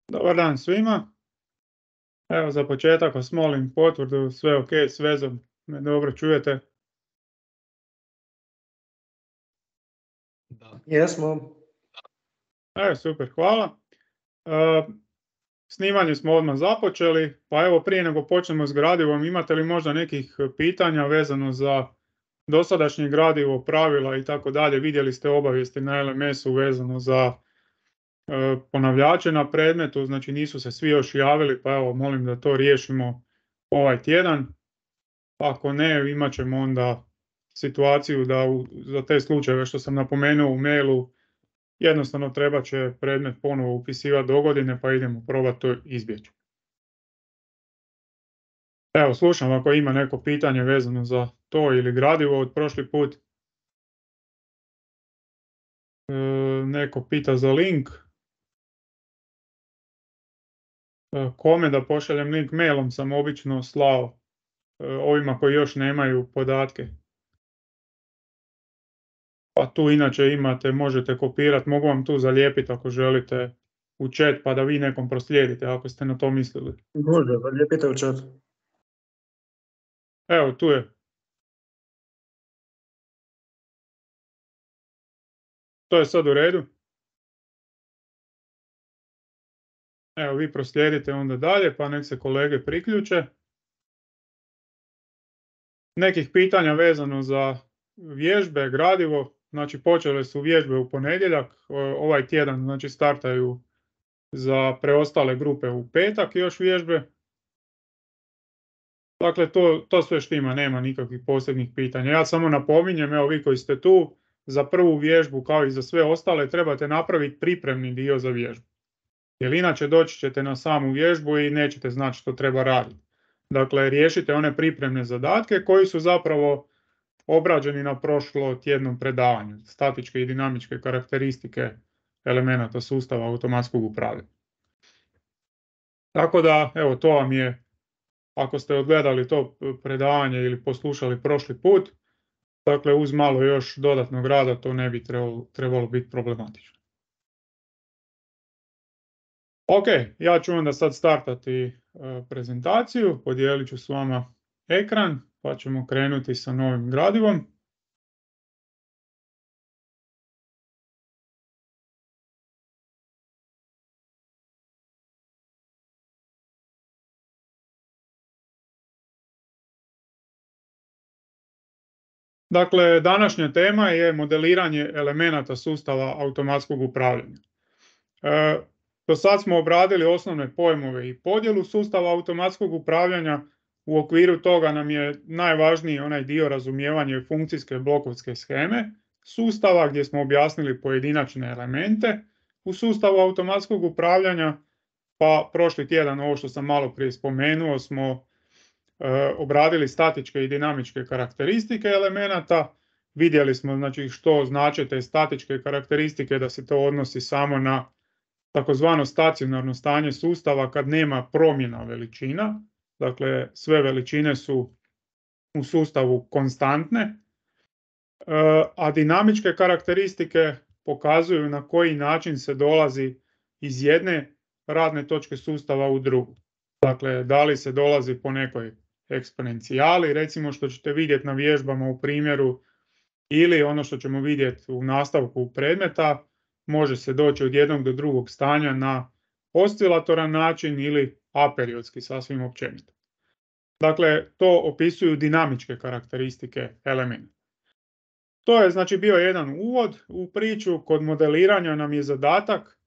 Dobar dan svima. Evo za početak vas molim potvrdu, sve ok s vezom, me dobro čujete? Jesmo. Super, hvala. Snimanje smo odmah započeli, pa evo prije nego počnemo s gradivom, imate li možda nekih pitanja vezano za dosadašnje gradivo, pravila i tako dalje? Vidjeli ste obavijesti na LMS-u vezano za ponavljače na predmetu, znači nisu se svi još javili, pa evo molim da to riješimo ovaj tjedan. Ako ne, imat ćemo onda situaciju da za te slučajeve što sam napomenuo u mailu jednostavno treba će predmet ponovo upisivati do godine, pa idemo probati to izbjeći. Evo, slušam ako ima neko pitanje vezano za to ili gradivo od prošli put. Neko pita za link. Kome da pošaljem link? Mailom sam obično slao ovima koji još nemaju podatke. Pa tu inače imate, možete kopirati, mogu vam tu zalijepiti ako želite u chat pa da vi nekom proslijedite ako ste na to mislili. Može, zalijepite u chat. Evo, tu je. To je sad u redu. Evo, vi proslijedite onda dalje pa nek se kolege priključe. Nekih pitanja vezano za vježbe, gradivo, znači počele su vježbe u ponedjeljak, ovaj tjedan znači startaju za preostale grupe u petak još vježbe. Dakle, to sve štima, nema nikakvih posebnih pitanja. Ja samo napominjem, evo vi koji ste tu, za prvu vježbu kao i za sve ostale trebate napraviti pripremni dio za vježbu. Jer inače doći ćete na samu vježbu i nećete znati što treba raditi. Dakle, riješite one pripremne zadatke koji su zapravo obrađeni na prošlotjednom predavanju. Statičke i dinamičke karakteristike elemenata sustava automatskog upravljanja. Tako da, evo, to vam je, ako ste odgledali to predavanje ili poslušali prošli put, dakle, uz malo još dodatnog rada to ne bi trebalo biti problematično. Ok, ja ću onda sad startati prezentaciju, podijelit ću s vama ekran, pa ćemo krenuti sa novim gradivom. Dakle, današnja tema je modeliranje elemenata sustava automatskog upravljanja. Do sad smo obradili osnovne pojmove i podjelu sustava automatskog upravljanja. U okviru toga nam je najvažniji onaj dio razumijevanja funkcijske blokovske sheme sustava gdje smo objasnili pojedinačne elemente u sustavu automatskog upravljanja, pa prošli tjedan ovo što sam malo prije spomenuo smo obradili statičke i dinamičke karakteristike elemenata. Vidjeli smo znači što znače te statičke karakteristike, da se to odnosi samo na takozvano stacionarno stanje sustava kad nema promjena veličina. Dakle, sve veličine su u sustavu konstantne, a dinamičke karakteristike pokazuju na koji način se dolazi iz jedne radne točke sustava u drugu. Dakle, da li se dolazi po nekoj eksponencijali, recimo što ćete vidjeti na vježbama u primjeru, ili ono što ćemo vidjeti u nastavku predmeta, može se doći od jednog do drugog stanja na oscilatoran način ili aperiodski, sasvim općenito. Dakle, to opisuju dinamičke karakteristike elementa. To je znači bio jedan uvod u priču. Kod modeliranja nam je zadatak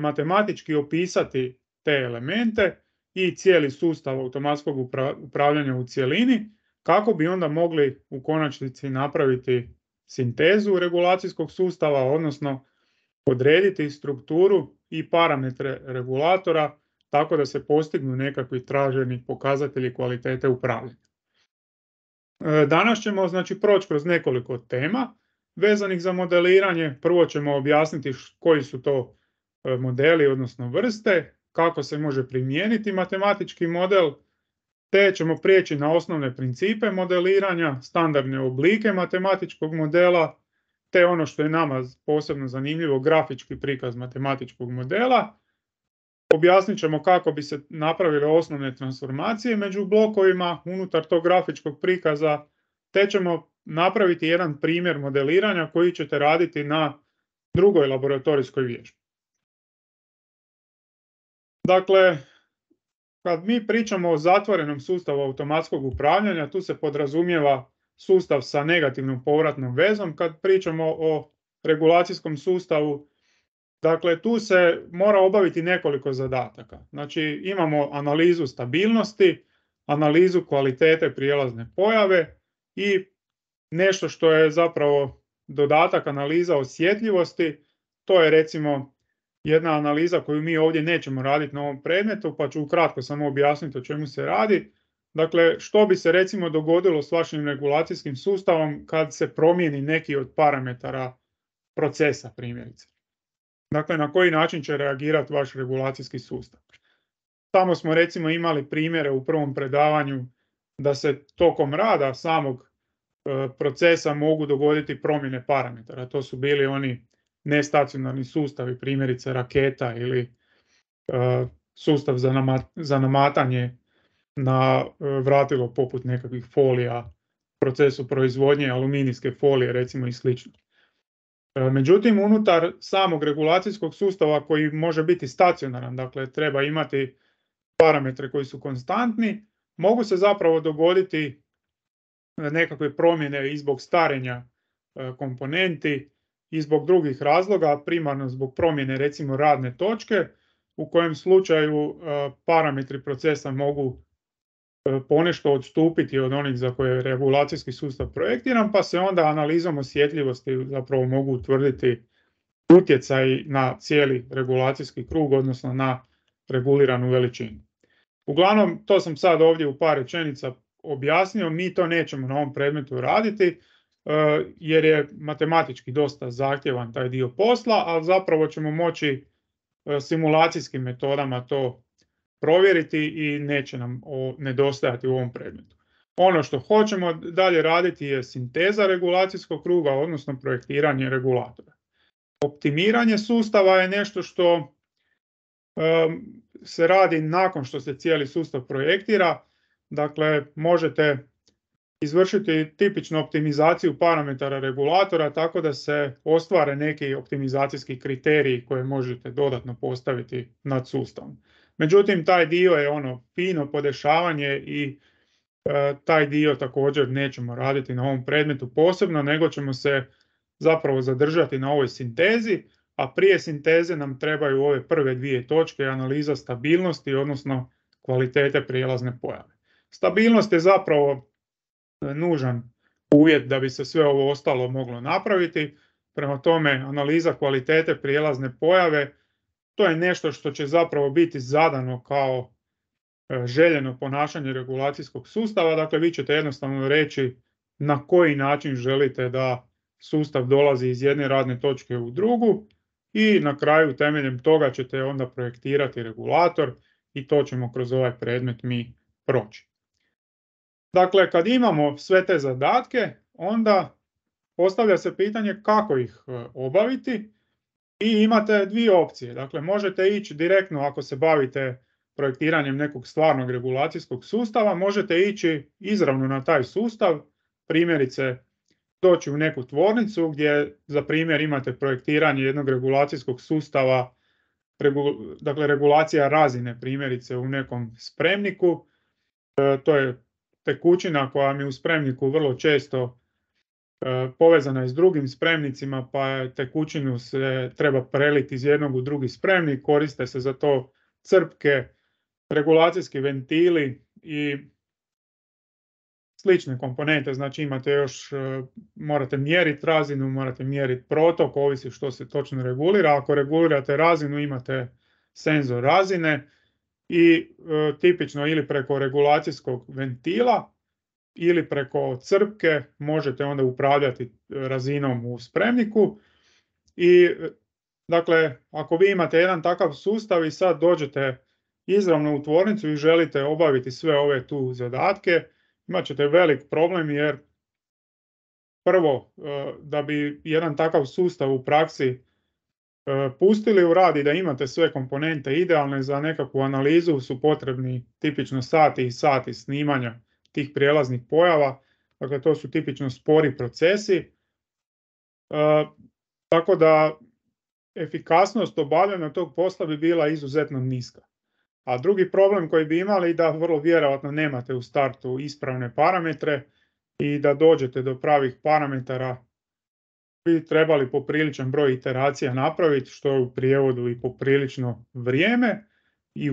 matematički opisati te elemente i cijeli sustav automatskog upravljanja u cjelini, kako bi onda mogli u konačnici napraviti sintezu regulacijskog sustava, odnosno odrediti strukturu i parametre regulatora tako da se postignu nekakvi traženi pokazatelji kvalitete upravljanja. Danas ćemo znači proći kroz nekoliko tema vezanih za modeliranje. Prvo ćemo objasniti koji su to modeli, odnosno vrste, kako se može primijeniti matematički model, te ćemo prijeći na osnovne principe modeliranja, standardne oblike matematičkog modela, te ono što je nama posebno zanimljivo, grafički prikaz matematičkog modela. objasnit ćemo kako bi se napravile osnovne transformacije među blokovima unutar tog grafičkog prikaza, te ćemo napraviti jedan primjer modeliranja koji ćete raditi na drugoj laboratorijskoj vježbi. Dakle, kad mi pričamo o zatvorenom sustavu automatskog upravljanja, tu se podrazumijeva sustav sa negativnom povratnom vezom. Kad pričamo o regulacijskom sustavu, dakle, tu se mora obaviti nekoliko zadataka. Znači, imamo analizu stabilnosti, analizu kvalitete prijelazne pojave i nešto što je zapravo dodatak, analiza osjetljivosti. To je recimo jedna analiza koju mi ovdje nećemo raditi na ovom predmetu, pa ću ukratko samo objasniti o čemu se radi. Dakle, što bi se recimo dogodilo s vašim regulacijskim sustavom kad se promijeni neki od parametara procesa, primjerice. Dakle, na koji način će reagirati vaš regulacijski sustav. Tamo smo recimo imali primjere u prvom predavanju da se tokom rada samog procesa mogu dogoditi promjene parametara. To su bili oni nestacionarni sustavi, primjerice raketa ili sustav za namatanje na vratilo poput nekakvih folija, procesu proizvodnje aluminijske folije recimo i slično. Međutim, unutar samog regulacijskog sustava koji može biti stacionaran, dakle treba imati parametre koji su konstantni, mogu se zapravo dogoditi nekakve promjene i zbog starenja komponenti i zbog drugih razloga, primarno zbog promjene recimo radne točke, u kojem slučaju parametri procesa mogu ponešto odstupiti od onih za koje je regulacijski sustav projektiran, pa se onda analizom osjetljivosti zapravo mogu utvrditi utjecaj na cijeli regulacijski krug, odnosno na reguliranu veličinu. Uglavnom, to sam sad ovdje u par rečenica objasnio, mi to nećemo na ovom predmetu raditi, jer je matematički dosta zahtjevan taj dio posla, ali zapravo ćemo moći simulacijskim metodama to provjeriti i neće nam nedostajati u ovom predmetu. Ono što hoćemo dalje raditi je sinteza regulacijskog kruga, odnosno projektiranje regulatora. Optimiranje sustava je nešto što se radi nakon što se cijeli sustav projektira. Dakle, možete izvršiti tipičnu optimizaciju parametara regulatora tako da se ostvare neki optimizacijski kriteriji koje možete dodatno postaviti nad sustavom. Međutim, taj dio je fino podešavanje i taj dio također nećemo raditi na ovom predmetu posebno, nego ćemo se zapravo zadržati na ovoj sintezi, a prije sinteze nam trebaju ove prve dvije točke, analiza stabilnosti, odnosno kvalitete prijelazne pojave. Stabilnost je zapravo nužan uvjet da bi se sve ovo ostalo moglo napraviti. Prema tome, analiza kvalitete prijelazne pojave, to je nešto što će zapravo biti zadano kao željeno ponašanje regulacijskog sustava. Dakle, vi ćete jednostavno reći na koji način želite da sustav dolazi iz jedne radne točke u drugu i na kraju temeljem toga ćete onda projektirati regulator i to ćemo kroz ovaj predmet mi proći. Dakle, kad imamo sve te zadatke, onda postavlja se pitanje kako ih obaviti i imate dvije opcije. Dakle, možete ići direktno ako se bavite projektiranjem nekog stvarnog regulacijskog sustava, možete ići izravno na taj sustav, primjerice doći u neku tvornicu gdje za primjer imate projektiranje jednog regulacijskog sustava, dakle regulacija razine primjerice u nekom spremniku. To je tekućina koja mi u spremniku vrlo često povezana je s drugim spremnicima, pa tekućinu se treba preliti iz jednog u drugi spremnik, koriste se za to crpke, regulacijski ventili i slične komponente. Znači imate još, morate mjeriti razinu, morate mjeriti protok, ovisi što se točno regulira. Ako regulirate razinu imate senzor razine i tipično ili preko regulacijskog ventila ili preko crpke možete onda upravljati razinom u spremniku. I dakle, ako vi imate jedan takav sustav i sad dođete izravno u tvornicu i želite obaviti sve ove tu zadatke, imat ćete velik problem jer prvo, da bi jedan takav sustav u praksi pustili u rad i da imate sve komponente idealne za nekakvu analizu su potrebni tipično sati i sati snimanja tih prijelaznih pojava. Dakle, to su tipično spori procesi. Tako da efikasnost obavljanja tog posla bi bila izuzetno niska. A drugi problem koji bi imali da vrlo vjerojatno nemate u startu ispravne parametre i da dođete do pravih parametara bi trebali popriličan broj iteracija napraviti, što je u prijevodu i poprilično vrijeme i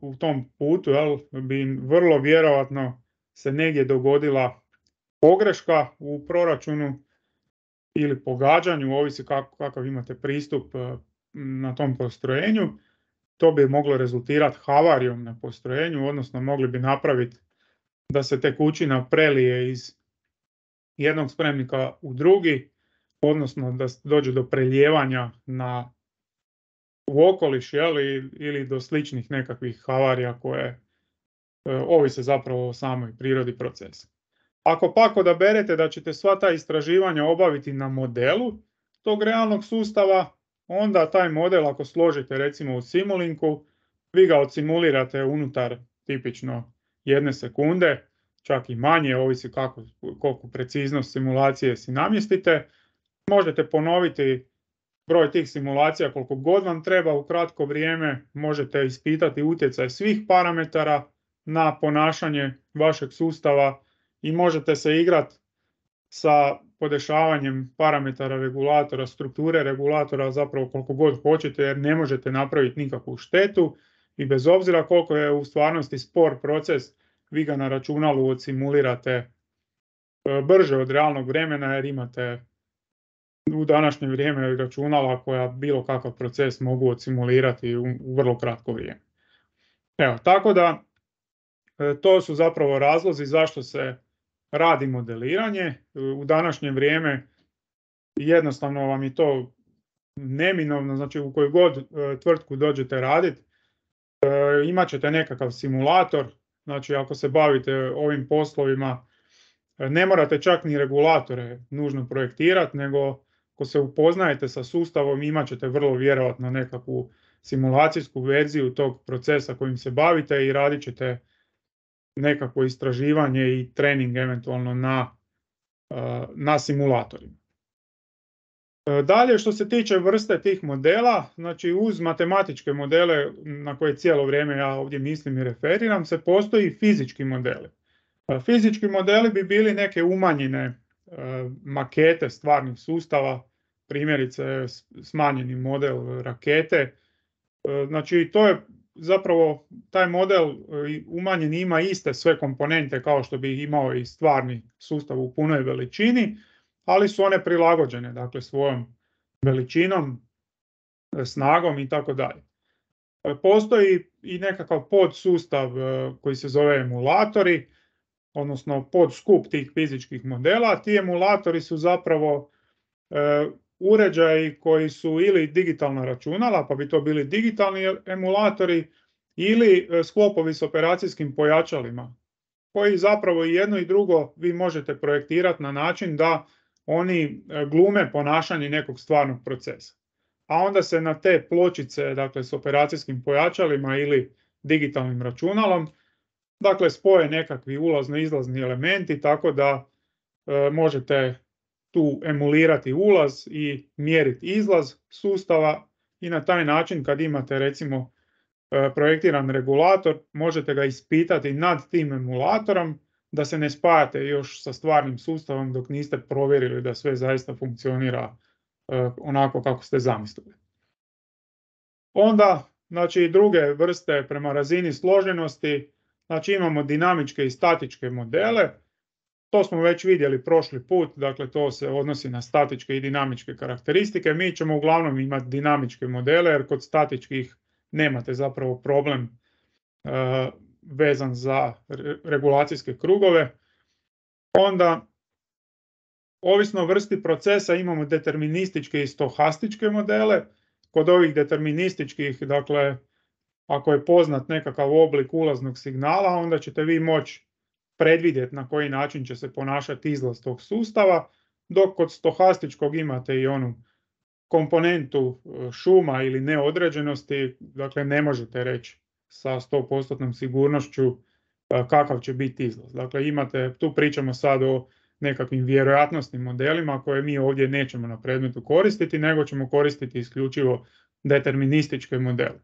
u tom putu bi vrlo vjerojatno se negdje dogodila pogreška u proračunu ili pogađanju, ovisi kakav imate pristup na tom postrojenju. To bi moglo rezultirati havarijom na postrojenju, odnosno mogli bi napraviti da se tekućina prelije iz jednog spremnika u drugi, odnosno da dođe do prelijevanja u okoliš ili do sličnih nekakvih havarija koje ovise zapravo o samoj prirodi procesa. Ako pak odaberete da ćete sva ta istraživanja obaviti na modelu tog realnog sustava, onda taj model ako složite recimo u Simulinku, vi ga odsimulirate unutar tipično 1 sekunde, čak i manje, ovisi koliko preciznost simulacije si namjestite. Možete ponoviti broj tih simulacija koliko god vam treba u kratko vrijeme, možete ispitati utjecaj svih parametara na ponašanje vašeg sustava i možete se igrati sa podešavanjem parametara regulatora, strukture regulatora zapravo koliko god hoćete jer ne možete napraviti nikakvu štetu i bez obzira koliko je u stvarnosti spor proces, vi ga na računalu odsimulirate brže od realnog vremena jer imate u današnje vrijeme računala koja bilo kakav proces mogu odsimulirati u vrlo kratko vrijeme. Evo, tako da to su zapravo razlozi zašto se radi modeliranje. U današnje vrijeme jednostavno vam je to neminovno, znači u koju god tvrtku dođete raditi, imat ćete nekakav simulator, znači ako se bavite ovim poslovima, ne morate čak ni regulatore nužno projektirati, nego ako se upoznajete sa sustavom, imat ćete vrlo vjerojatno nekakvu simulacijsku verziju tog procesa kojim se bavite i radit ćete nekakvo istraživanje i trening eventualno na simulatorima. Dalje, što se tiče vrste tih modela, znači uz matematičke modele na koje cijelo vrijeme ja ovdje mislim i referiram se, postoji fizički modeli. Fizički modeli bi bili neke umanjene makete stvarnih sustava, primjerice smanjeni model rakete. Znači to je zapravo taj model umanjen ima iste sve komponente kao što bi imao i stvarni sustav u punoj veličini, ali su one prilagođene, dakle svojom veličinom, snagom i tako dalje. Postoji i nekakav podsustav koji se zove emulatori, odnosno podskup tih fizičkih modela. Ti emulatori su zapravo uređaji koji su ili digitalna računala, pa bi to bili digitalni emulatori, ili sklopovi s operacijskim pojačalima, koji zapravo i jedno i drugo vi možete projektirati na način da oni glume ponašanje nekog stvarnog procesa. A onda se na te pločice, dakle s operacijskim pojačalima ili digitalnim računalom, dakle spoje nekakvi ulazno-izlazni elementi, tako da možete tu emulirati ulaz i mjeriti izlaz sustava i na taj način kad imate recimo projektiran regulator, možete ga ispitati nad tim emulatorom da se ne spajate još sa stvarnim sustavom dok niste provjerili da sve zaista funkcionira onako kako ste zamislili. Onda, znači druge vrste prema razini složenosti, znači imamo dinamičke i statičke modele. To smo već vidjeli prošli put, dakle to se odnosi na statičke i dinamičke karakteristike. Mi ćemo uglavnom imati dinamičke modele jer kod statičkih nemate zapravo problem vezan za regulacijske krugove. Onda, ovisno o vrsti procesa imamo determinističke i stohastičke modele. Kod ovih determinističkih, dakle, ako je poznat nekakav oblik ulaznog signala, onda ćete vi moći predvidjeti na koji način će se ponašati izlaz tog sustava, dok kod stohastičkog imate i onu komponentu šuma ili neodređenosti, dakle ne možete reći sa 100% sigurnošću kakav će biti izlaz. Dakle, tu pričamo sad o nekakvim vjerojatnosnim modelima koje mi ovdje nećemo na predmetu koristiti, nego ćemo koristiti isključivo determinističke modele.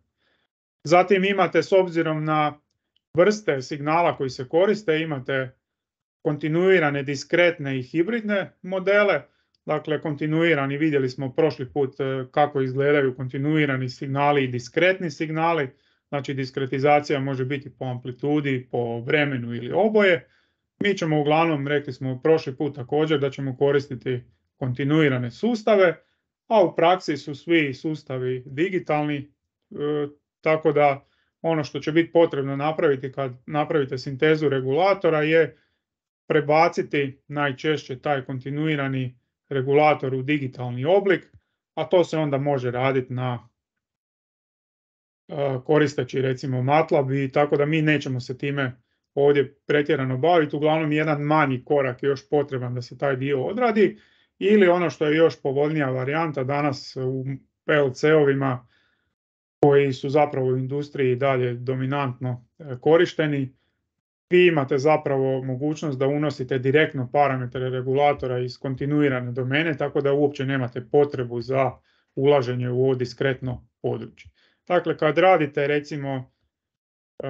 Zatim imate, s obzirom na vrste signala koji se koriste, imate kontinuirane, diskretne i hibridne modele. Dakle, kontinuirani, vidjeli smo prošli put kako izgledaju kontinuirani signali i diskretni signali. Znači, diskretizacija može biti po amplitudi, po vremenu ili oboje. Mi ćemo uglavnom, rekli smo prošli put također, da ćemo koristiti kontinuirane sustave, a u praksi su svi sustavi digitalni, tako da ono što će biti potrebno napraviti kad napravite sintezu regulatora je prebaciti najčešće taj kontinuirani regulator u digitalni oblik, a to se onda može raditi koristeći recimo MATLAB, i tako da mi nećemo se time ovdje pretjerano baviti. Uglavnom jedan manji korak je još potreban da se taj dio odradi, ili ono što je još povoljnija varijanta danas u PLC-ovima koji su zapravo u industriji dalje dominantno korišteni. Vi imate zapravo mogućnost da unosite direktno parametre regulatora iz kontinuirane domene, tako da uopće nemate potrebu za ulaženje u ovo diskretno područje. Dakle, kad radite recimo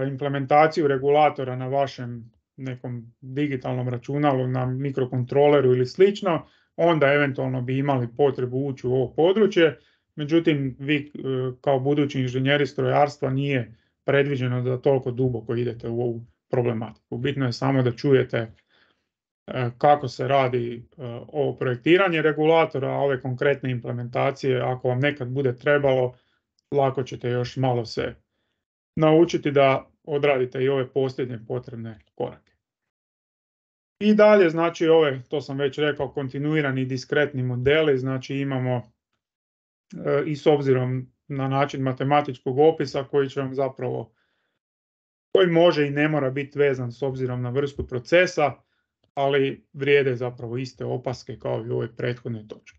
implementaciju regulatora na vašem nekom digitalnom računalu, na mikrokontroleru ili slično, onda eventualno bi imali potrebu ući u ovo područje. Međutim, vi kao budući inženjeri strojarstva nije predviđeno da toliko duboko idete u ovu problematiku. Bitno je samo da čujete kako se radi ovo projektiranje regulatora, a ove konkretne implementacije, ako vam nekad bude trebalo, lako ćete još malo se naučiti da odradite i ove posljednje potrebne korake. I dalje, znači to sam već rekao, kontinuirani diskretni modeli, znači imamo i s obzirom na način matematičkog opisa koji može i ne mora biti vezan s obzirom na vrstu procesa, ali vrijede zapravo iste opaske kao i u ovoj prethodnoj točki.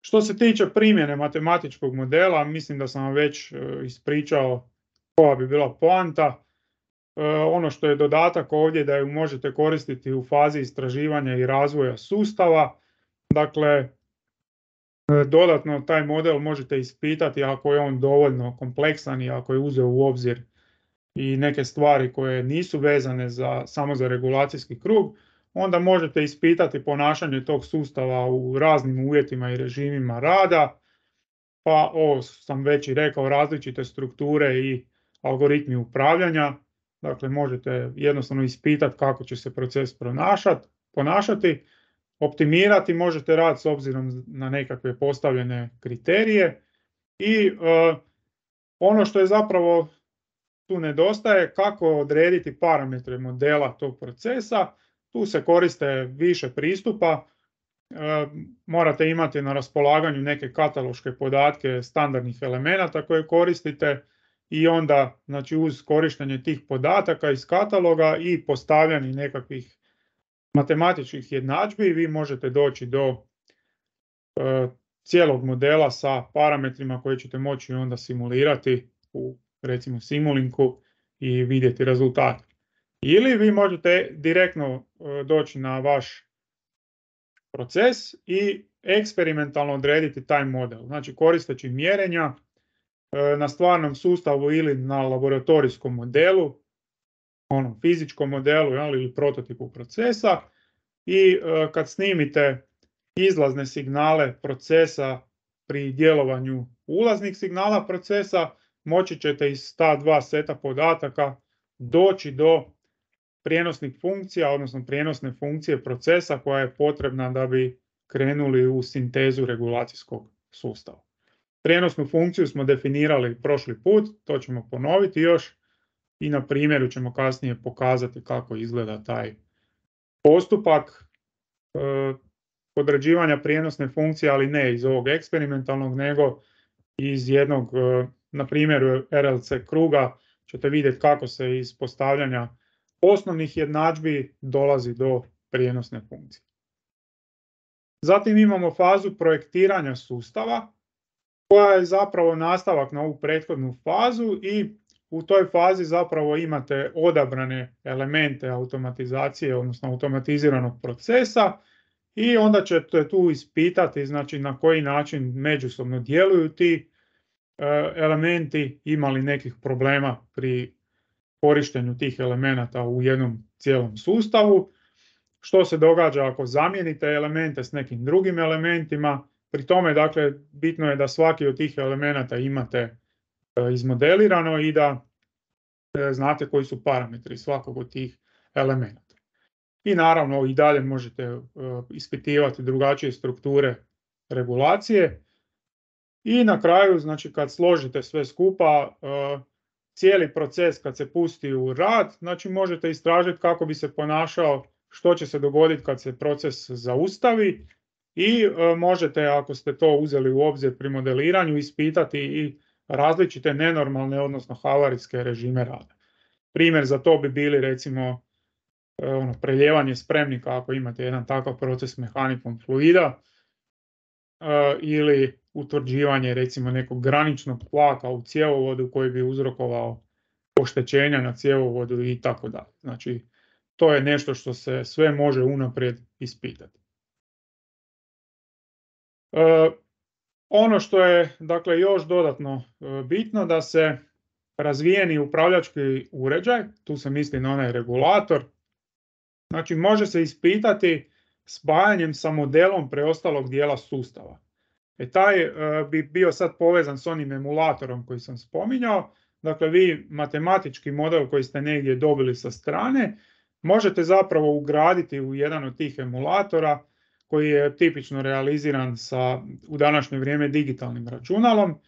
Što se tiče primjene matematičkog modela, mislim da sam vam već ispričao koja bi bila poanta. Ono što je dodatak ovdje da ju možete koristiti u fazi istraživanja i razvoja sustava. Dakle, dodatno taj model možete ispitati ako je on dovoljno kompleksan i ako je uzeo u obzir i neke stvari koje nisu vezane samo za regulacijski krug, onda možete ispitati ponašanje tog sustava u raznim uvjetima i režimima rada. Pa ovo sam već i rekao, različite strukture i algoritmi upravljanja. Dakle, možete jednostavno ispitati kako će se proces ponašati. Optimirati možete rad s obzirom na nekakve postavljene kriterije. I ono što je zapravo tu nedostaje, kako odrediti parametre modela tog procesa. Tu se koriste više pristupa. Morate imati na raspolaganju neke kataloške podatke standardnih elemenata koje koristite i onda, znači, uz korištenje tih podataka iz kataloga i postavljanje nekakvih matematičkih jednadžbi vi možete doći do cijelog modela sa parametrima koje ćete moći onda simulirati u recimo Simulinku i vidjeti rezultate. Ili vi možete direktno doći na vaš proces i eksperimentalno odrediti taj model. Znači, koristeći mjerenja na stvarnom sustavu ili na laboratorijskom modelu, onom fizičkom modelu ili prototipu procesa, i kad snimite izlazne signale procesa pri djelovanju ulaznih signala procesa, moći ćete iz ta dva seta podataka doći do prijenosnih funkcija, odnosno prijenosne funkcije procesa koja je potrebna da bi krenuli u sintezu regulacijskog sustava. Prijenosnu funkciju smo definirali prošli put, to ćemo ponoviti još i na primjeru ćemo kasnije pokazati kako izgleda taj postupak određivanja prijenosne funkcije, ali ne iz ovog eksperimentalnog, nego iz jednog, na primjeru RLC kruga ćete vidjeti kako se iz postavljanja osnovnih jednadžbi dolazi do prijenosne funkcije. Zatim imamo fazu projektiranja sustava, koja je zapravo nastavak na ovu prethodnu fazu i u toj fazi zapravo imate odabrane elemente automatizacije, odnosno automatiziranog procesa i onda ćete tu ispitati, znači, na koji način međusobno djeluju ti elementi, ima li nekih problema pri korištenju tih elemenata u jednom cijelom sustavu, što se događa ako zamijenite elemente s nekim drugim elementima. Pri tome, dakle, bitno je da svaki od tih elemenata imate izmodelirano i da znate koji su parametri svakog od tih elemenata. I naravno i dalje možete ispitivati drugačije strukture regulacije. I na kraju, znači, kad složite sve skupa, cijeli proces kad se pusti u rad, znači možete istražiti kako bi se ponašao, što će se dogoditi kad se proces zaustavi i možete, ako ste to uzeli u obzir pri modeliranju, ispitati i različite nenormalne, odnosno havarijske režime rada. Primjer za to bi bili, recimo, preljevanje spremnika ako imate jedan takav proces mehanikom fluida, ili utvrđivanje, recimo, nekog graničnog tlaka u cjevovodu koji bi uzrokovao oštećenja na cjevovodu i tako dalje. Znači, to je nešto što se sve može unaprijed ispitati. Ono što je, dakle, još dodatno bitno, da se razvijeni upravljački uređaj, tu se misli na onaj regulator, znači može se ispitati spajanjem sa modelom preostalog dijela sustava. Taj bi bio sad povezan s onim emulatorom koji sam spominjao. Dakle, vi matematički model koji ste negdje dobili sa strane možete zapravo ugraditi u jedan od tih emulatora koji je tipično realiziran sa, u današnje vrijeme, digitalnim računalom.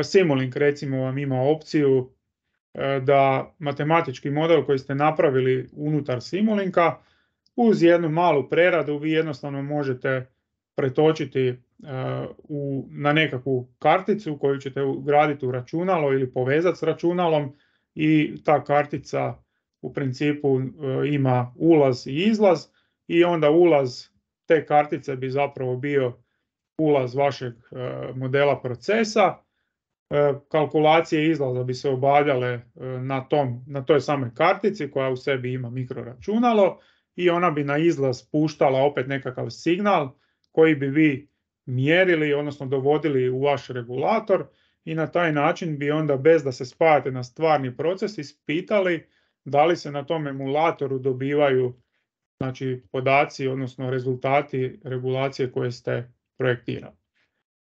Simulink, recimo, vam ima opciju da matematički model koji ste napravili unutar Simulinka uz jednu malu preradu vi jednostavno možete pretočiti na nekakvu karticu koju ćete ugraditi u računalo ili povezati s računalom i ta kartica u principu ima ulaz i izlaz i onda ulaz te kartice bi zapravo bio ulaz vašeg modela procesa. Kalkulacije izlaza bi se obavljale na toj samoj kartici koja u sebi ima mikroračunalo i ona bi na izlaz puštala opet nekakav signal koji bi vi mjerili, odnosno dovodili u vaš regulator i na taj način bi onda, bez da se spajate na stvarni proces, ispitali da li se na tom emulatoru dobivaju, znači, podaci, odnosno rezultati regulacije koje ste projektirali.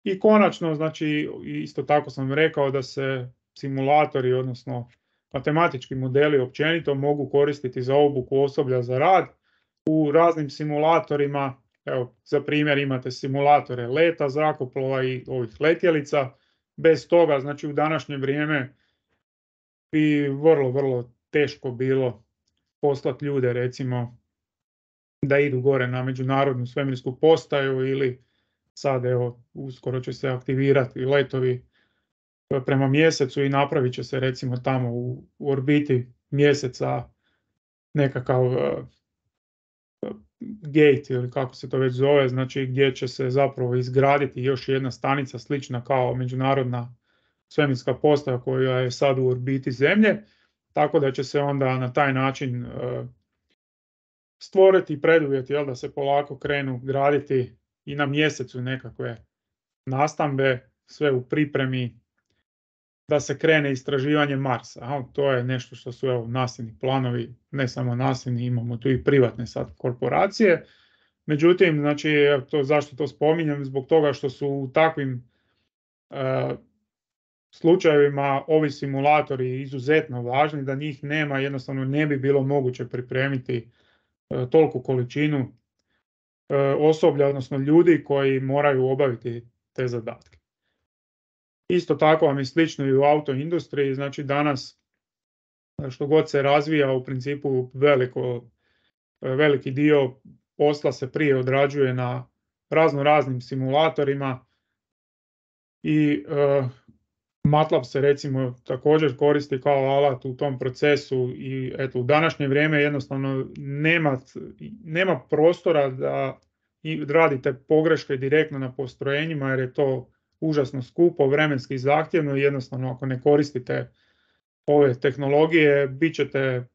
I konačno, znači, isto tako sam rekao da se simulatori, odnosno matematički modeli općenito mogu koristiti za obuku osoblja za rad u raznim simulatorima. Evo, za primjer imate simulatore leta zrakoplova i ovih letjelica. Bez toga, znači, u današnje vrijeme bi vrlo teško bilo poslati ljude, recimo, da idu gore na međunarodnu svemirsku postaju ili sad, evo, uskoro će se aktivirati letovi prema mjesecu i napravit će se, recimo, tamo u orbiti mjeseca nekakav gate ili kako se to već zove, znači gdje će se zapravo izgraditi još jedna stanica slična kao međunarodna svemirska postaja koja je sad u orbiti Zemlje, tako da će se onda na taj način stvoriti preduvjeti, da se polako krenu graditi i na mjesecu nekakve nastambe, sve u pripremi da se krene istraživanje Marsa. To je nešto što su, evo, nasljedni planovi, ne samo nasljedni, imamo tu i privatne sad korporacije. Međutim, znači, zašto to spominjem? Zbog toga što su u takvim slučajevima ovi simulatori izuzetno važni, da njih nema, jednostavno ne bi bilo moguće pripremiti toliku količinu osoblja, odnosno ljudi koji moraju obaviti te zadatke. Isto tako vam je slično i u autoindustriji, znači danas što god se razvija, u principu veliki dio posla se prije odrađuje na raznim simulatorima i MATLAB se, recimo, također koristi kao alat u tom procesu i eto, u današnje vrijeme jednostavno nema prostora da i radite pogreške direktno na postrojenjima jer je to užasno skupo, vremenski zahtjevno i jednostavno ako ne koristite ove tehnologije, bit ćete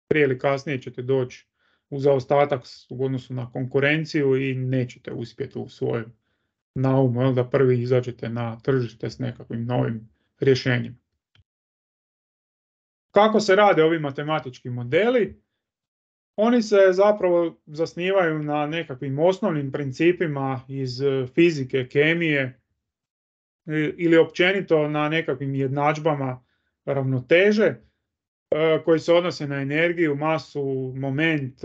prije ili kasnije ćete doći u zaostatak u odnosu na konkurenciju i nećete uspjeti u svojem naumu da prvi izađete na tržište s nekakvim novim rješenjima. Kako se rade ovi matematički modeli? Oni se zapravo zasnivaju na nekakvim osnovnim principima iz fizike, kemije ili općenito na nekakvim jednadžbama ravnoteže koji se odnose na energiju, masu, moment,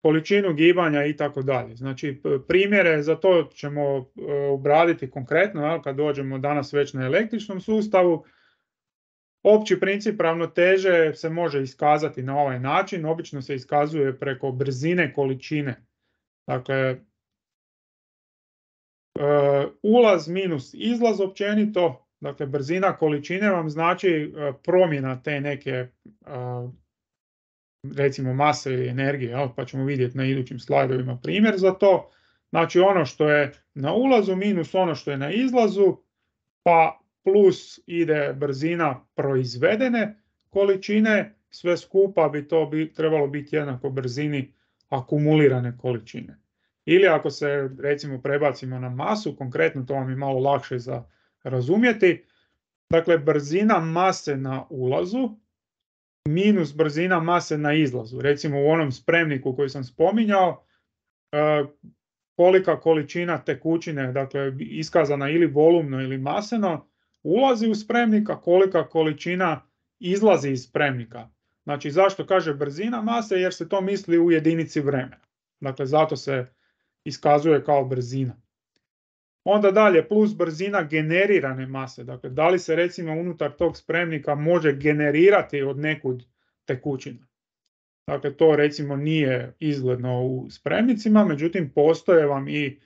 količinu gibanja i tako dalje. Znači primjere za to ćemo obraditi konkretno kad dođemo danas već na električnom sustavu. Opći princip ravnoteže se može iskazati na ovaj način, obično se iskazuje preko brzine količine. Dakle, ulaz minus izlaz općenito, dakle brzina količine vam znači promjena te neke recimo mase ili energije, pa ćemo vidjeti na idućim slajdovima primjer za to. Znači ono što je na ulazu minus ono što je na izlazu, pa plus ide brzina proizvedene količine, sve skupa bi to trebalo biti jednako brzini akumulirane količine. Ili ako se recimo prebacimo na masu, konkretno to vam je malo lakše za razumjeti, dakle brzina mase na ulazu minus brzina mase na izlazu. Recimo u onom spremniku koji sam spominjao, kolika količina tekućine, dakle iskazana ili volumno ili maseno, ulazi u spremnik, a kolika količina izlazi iz spremnika. Znači zašto kaže brzina mase? Jer se to misli u jedinici vremena. Dakle zato se iskazuje kao brzina. Onda dalje plus brzina generirane mase. Dakle da li se recimo unutar tog spremnika može generirati od nekud tekućina. Dakle to recimo nije izgledno u spremnicima, međutim postoje vam i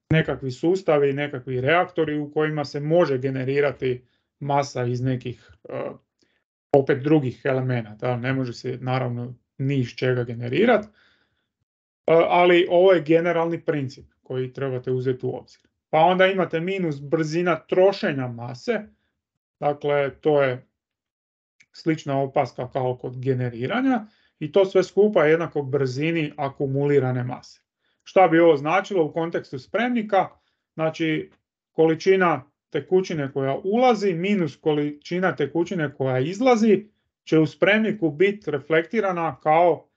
nekakvi sustavi, nekakvi reaktori u kojima se može generirati masa iz nekih opet drugih elemenata. Ne može se naravno ni iz čega generirati, ali ovo je generalni princip koji trebate uzeti u obzir. Pa onda imate minus brzina trošenja mase, dakle to je slična opaska kao kod generiranja i to sve skupa je jednako brzini akumulirane mase. Šta bi ovo značilo u kontekstu spremnika? Znači količina tekućine koja ulazi minus količina tekućine koja izlazi će u spremniku biti reflektirana kao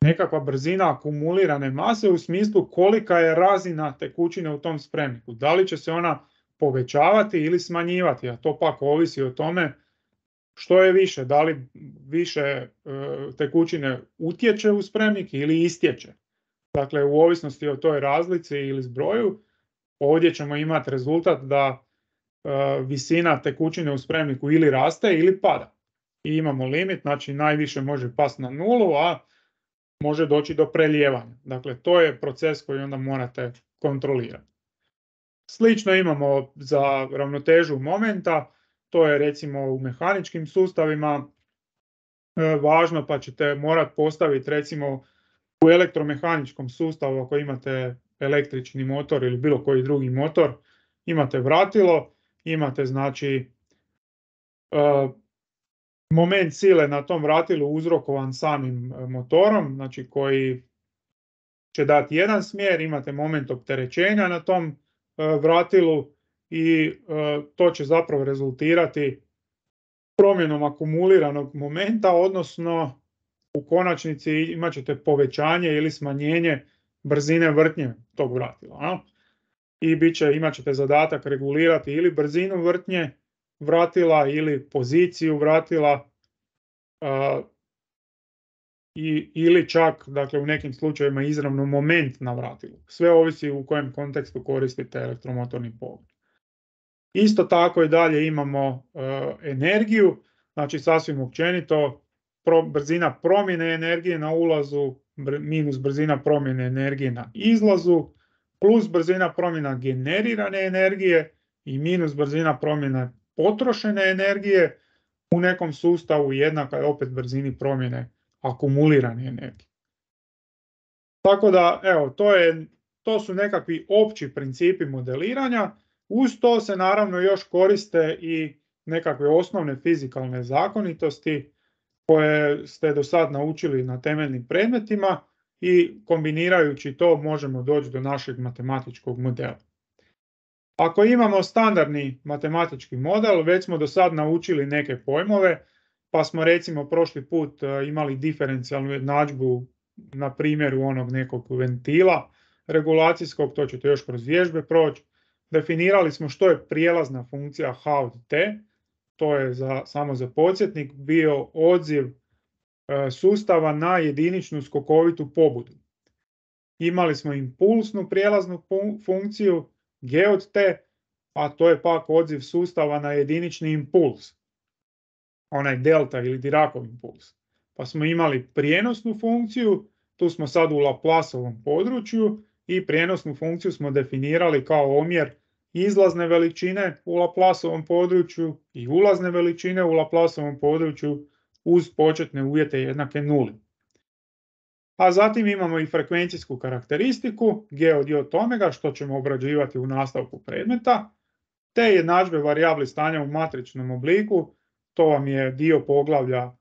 nekakva brzina akumulirane mase u smislu kolika je razina tekućine u tom spremniku. Da li će se ona povećavati ili smanjivati, a to pak ovisi o tome što je više, da li više tekućine utječe u spremnik ili istječe. Dakle, u ovisnosti o toj razlici ili zbroju, ovdje ćemo imati rezultat da visina tekućine u spremniku ili raste ili pada. I imamo limit, znači najviše može pasti na nulu, a može doći do prelijevanja. Dakle, to je proces koji onda morate kontrolirati. Slično imamo za ravnotežu momenta, to je recimo u mehaničkim sustavima važno, pa ćete morati postaviti recimo u elektromehaničkom sustavu ako imate električni motor ili bilo koji drugi motor, imate vratilo, imate znači moment sile na tom vratilu uzrokovan samim motorom, znači koji će dati jedan smjer, imate moment opterećenja na tom vratilu i to će zapravo rezultirati promjenom akumuliranog momenta, odnosno u konačnici imat ćete povećanje ili smanjenje brzine vrtnje tog vratila. I imat ćete zadatak regulirati ili brzinu vrtnje vratila ili poziciju vratila ili čak, dakle u nekim slučajevima izravno moment na vratilu. Sve ovisi u kojem kontekstu koristite elektromotorni pogon. Isto tako i dalje imamo energiju, znači sasvim općenito brzina promjene energije na ulazu minus brzina promjene energije na izlazu plus brzina promjena generirane energije i minus brzina promjene potrošene energije u nekom sustavu jednaka je opet brzini promjene akumulirane energije. Tako da, evo, to su nekakvi opći principi modeliranja. Uz to se naravno još koriste i nekakve osnovne fizikalne zakonitosti koje ste do sad naučili na temeljnim predmetima i kombinirajući to možemo doći do našeg matematičkog modela. Ako imamo standardni matematički model, već smo do sad naučili neke pojmove, pa smo recimo prošli put imali diferencijalnu jednadžbu na primjeru onog nekog ventila regulacijskog, to ćete još kroz vježbe proći. Definirali smo što je prijelazna funkcija h od t, to je samo za podsjetnik bio odziv sustava na jediničnu skokovitu pobudu. Imali smo impulsnu prijelaznu funkciju g od t, a to je pak odziv sustava na jedinični impuls, onaj delta ili Diracov impuls. Pa smo imali prijenosnu funkciju, tu smo sad u Laplaceovom području i prijenosnu funkciju smo definirali kao omjer izlazne veličine u Laplaceovom području i ulazne veličine u Laplaceovom području uz početne uvjete jednake nuli. A zatim imamo i frekvencijsku karakteristiku g od j od omega, što ćemo obrađivati u nastavku predmeta, te jednadžbe varijabli stanja u matričnom obliku, to vam je dio poglavlja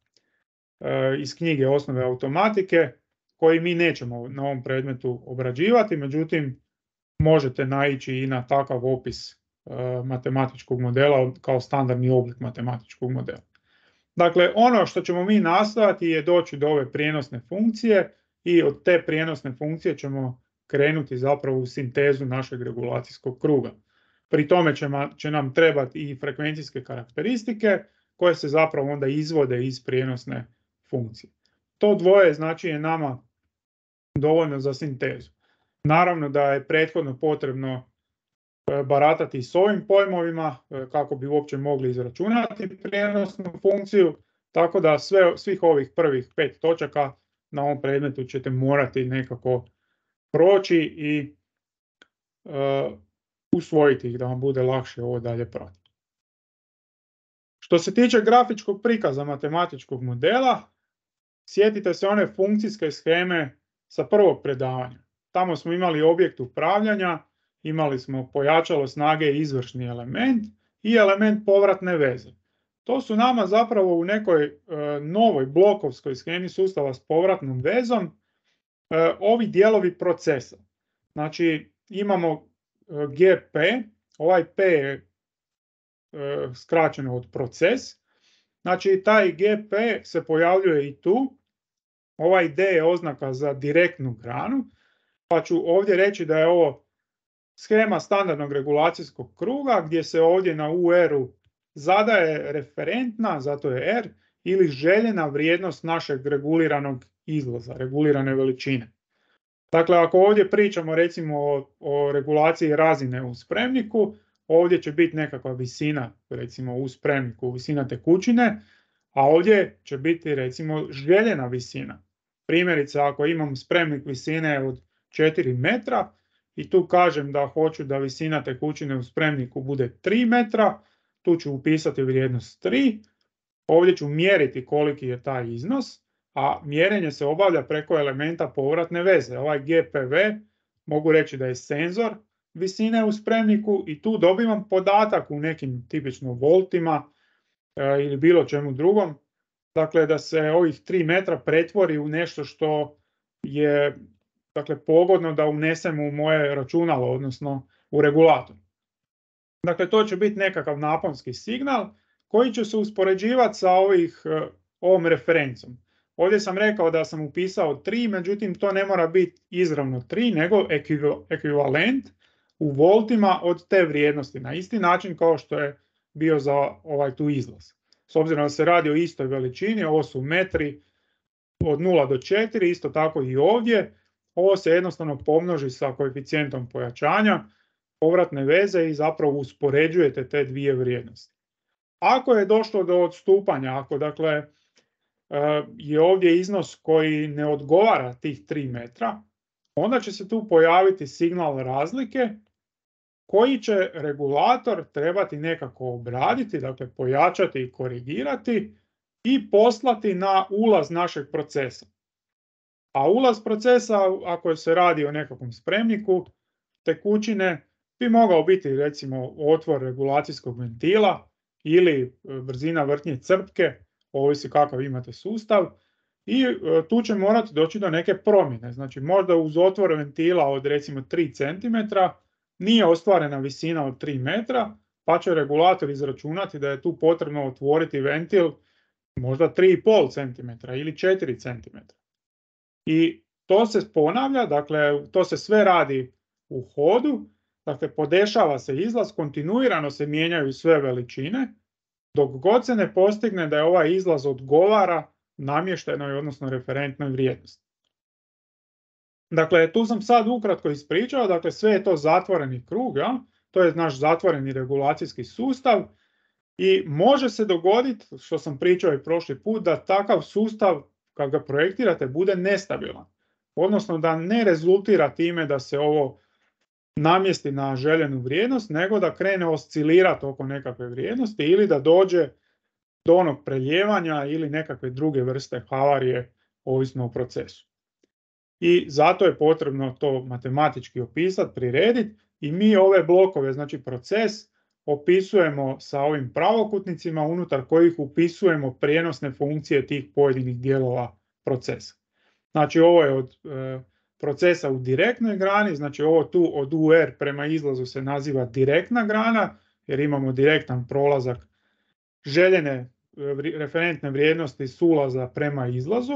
iz knjige Osnove automatike, koji mi nećemo na ovom predmetu obrađivati, međutim možete naići i na takav opis matematičkog modela kao standardni oblik matematičkog modela. Dakle, ono što ćemo mi nastojati je doći do ove prijenosne funkcije i od te prijenosne funkcije ćemo krenuti zapravo u sintezu našeg regulacijskog kruga. Pri tome će nam trebati i frekvencijske karakteristike koje se zapravo onda izvode iz prijenosne funkcije. To dvoje znači je nama dovoljno za sintezu. Naravno da je prethodno potrebno baratati s ovim pojmovima kako bi uopće mogli izračunati prijenosnu funkciju, tako da svih ovih prvih 5 točaka na ovom predmetu ćete morati nekako proći i usvojiti ih da vam bude lakše ovo dalje pratiti. Što se tiče grafičkog prikaza matematičkog modela, sjetite se one funkcijske sheme sa prvog predavanja. Tamo smo imali objekt upravljanja, imali smo pojačalo snage i izvršni element i element povratne veze. To su nama zapravo u nekoj novoj blokovskoj shemi sustava s povratnom vezom ovi dijelovi procesa. Znači imamo GP, ovaj P je skraćeno od proces, znači taj GP se pojavljuje i tu, ovaj D je oznaka za direktnu granu, pa ću ovdje reći da je ovo shema standardnog regulacijskog kruga gdje se ovdje na UR-u zadaje referentna, zato je R, ili željena vrijednost našeg reguliranog izlaza, regulirane veličine. Dakle, ako ovdje pričamo recimo o regulaciji razine u spremniku, ovdje će biti nekakva visina, recimo u spremniku, visina tekućine, a ovdje će biti recimo željena visina. Primjerice, ako imam spremnik visine od 4 metra i tu kažem da hoću da visina tekućine u spremniku bude 3 metra, tu ću upisati vrijednost 3, ovdje ću mjeriti koliki je taj iznos, a mjerenje se obavlja preko elementa povratne veze. Ovaj GPV mogu reći da je senzor visine u spremniku i tu dobivam podatak u nekim tipično voltima ili bilo čemu drugom. Dakle, da se ovih 3 metra pretvori u nešto što je pogodno da unesem u moje računalo, odnosno u regulator. Dakle, to će biti nekakav naponski signal koji će se uspoređivati sa ovom referencom. Ovdje sam rekao da sam upisao 3, međutim to ne mora biti izravno 3, nego ekvivalent u voltima od te vrijednosti, na isti način kao što je bio za ovaj tu izlaz. S obzirom da se radi o istoj veličini, ovo su metri od 0 do 4, isto tako i ovdje. Ovo se jednostavno pomnoži sa koeficijentom pojačanja povratne veze i zapravo uspoređujete te dvije vrijednosti. Ako je došlo do odstupanja, ako dakle je ovdje iznos koji ne odgovara tih 3 metra, onda će se tu pojaviti signal razlike koji će regulator trebati nekako obraditi, dakle pojačati i korigirati i poslati na ulaz našeg procesa. A ulaz procesa, ako se radi o nekakvom spremniku tekućine, bi mogao biti recimo otvor regulacijskog ventila ili brzina vrtnje crpke, ovisi kakav imate sustav, i tu će morati doći do neke promjene. Znači možda uz otvor ventila od recimo 3 cm nije ostvarena visina od 3 metra, pa će regulator izračunati da je tu potrebno otvoriti ventil možda 3,5 cm ili 4 cm. I to se ponavlja, dakle to se sve radi u hodu, dakle podešava se izlaz, kontinuirano se mijenjaju sve veličine, dok god se ne postigne da je ovaj izlaz odgovara namještenoj, odnosno referentnoj vrijednosti. Dakle, tu sam sad ukratko ispričao, dakle sve je to zatvoreni krug, ja? To je naš zatvoreni regulacijski sustav i može se dogoditi, što sam pričao i prošli put, da takav sustav, kad ga projektirate, bude nestabilan. Odnosno da ne rezultira time da se ovo namjesti na željenu vrijednost, nego da krene oscilirati oko nekakve vrijednosti ili da dođe do onog preljevanja ili nekakve druge vrste havarije, ovisno o procesu. I zato je potrebno to matematički opisati, prirediti i mi ove blokove, znači proces, opisujemo sa ovim pravokutnicima unutar kojih upisujemo prijenosne funkcije tih pojedinih dijelova procesa. Znači ovo je od procesa u direktnoj grani, znači ovo tu od UR prema izlazu se naziva direktna grana, jer imamo direktan prolazak željene referentne vrijednosti s ulaza prema izlazu,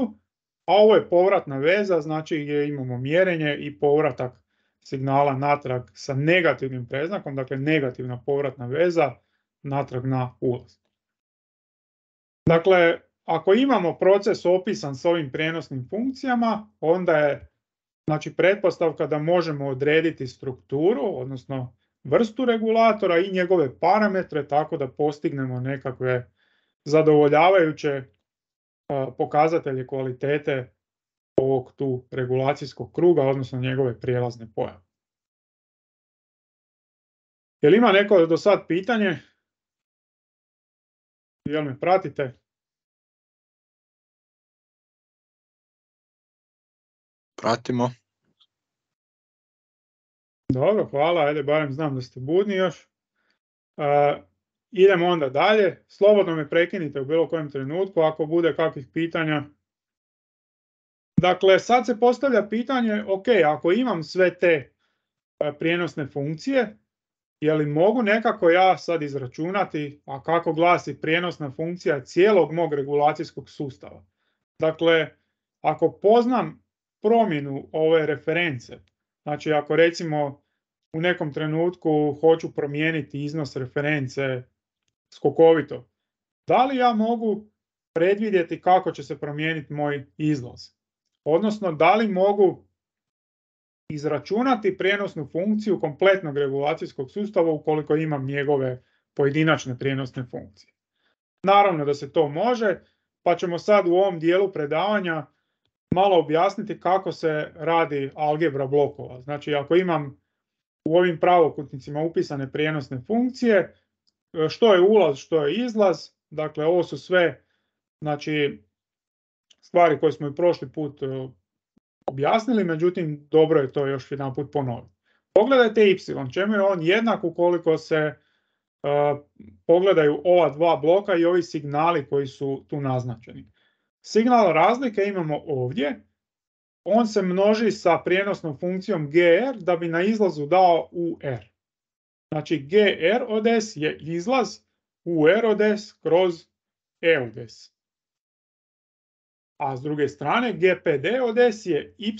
a ovo je povratna veza, znači gdje imamo mjerenje i povratak signala natrag sa negativnim predznakom, dakle negativna povratna veza natrag na ulaz. Dakle, ako imamo proces opisan s ovim prijenosnim funkcijama, onda je znači pretpostavka da možemo odrediti strukturu, odnosno vrstu regulatora i njegove parametre tako da postignemo nekakve zadovoljavajuće pokazatelje kvalitete ovog tu regulacijskog kruga, odnosno njegove prijelazne pojave. Jel ima neko do sad pitanje? Jel me pratite? Pratimo. Dobro, hvala, ajde, barem znam da ste budni još. Idemo onda dalje. Slobodno me prekinite u bilo kojem trenutku ako bude kakvih pitanja. Dakle, sad se postavlja pitanje, ok, ako imam sve te prijenosne funkcije, je li mogu nekako ja sad izračunati, a kako glasi prijenosna funkcija cijelog mog regulacijskog sustava? Dakle, ako poznam promjenu ove reference, znači ako recimo u nekom trenutku hoću promijeniti iznos reference skokovito, da li ja mogu predvidjeti kako će se promijeniti moj izlaz? Odnosno, da li mogu izračunati prijenosnu funkciju kompletnog regulacijskog sustava ukoliko imam njegove pojedinačne prijenosne funkcije? Naravno da se to može, pa ćemo sad u ovom dijelu predavanja malo objasniti kako se radi algebra blokova. Znači, ako imam u ovim pravokutnicima upisane prijenosne funkcije, što je ulaz, što je izlaz, dakle ovo su sve znači, stvari koje smo i prošli put objasnili, međutim dobro je to još jedan put ponoviti. Pogledajte y, čemu je on jednak ukoliko se pogledaju ova dva bloka i ovi signali koji su tu naznačeni. Signal razlike imamo ovdje, on se množi sa prijenosnom funkcijom gr da bi na izlazu dao ur. Znači gr od s je izlaz, ur od s kroz e od s. A s druge strane gpd od s je y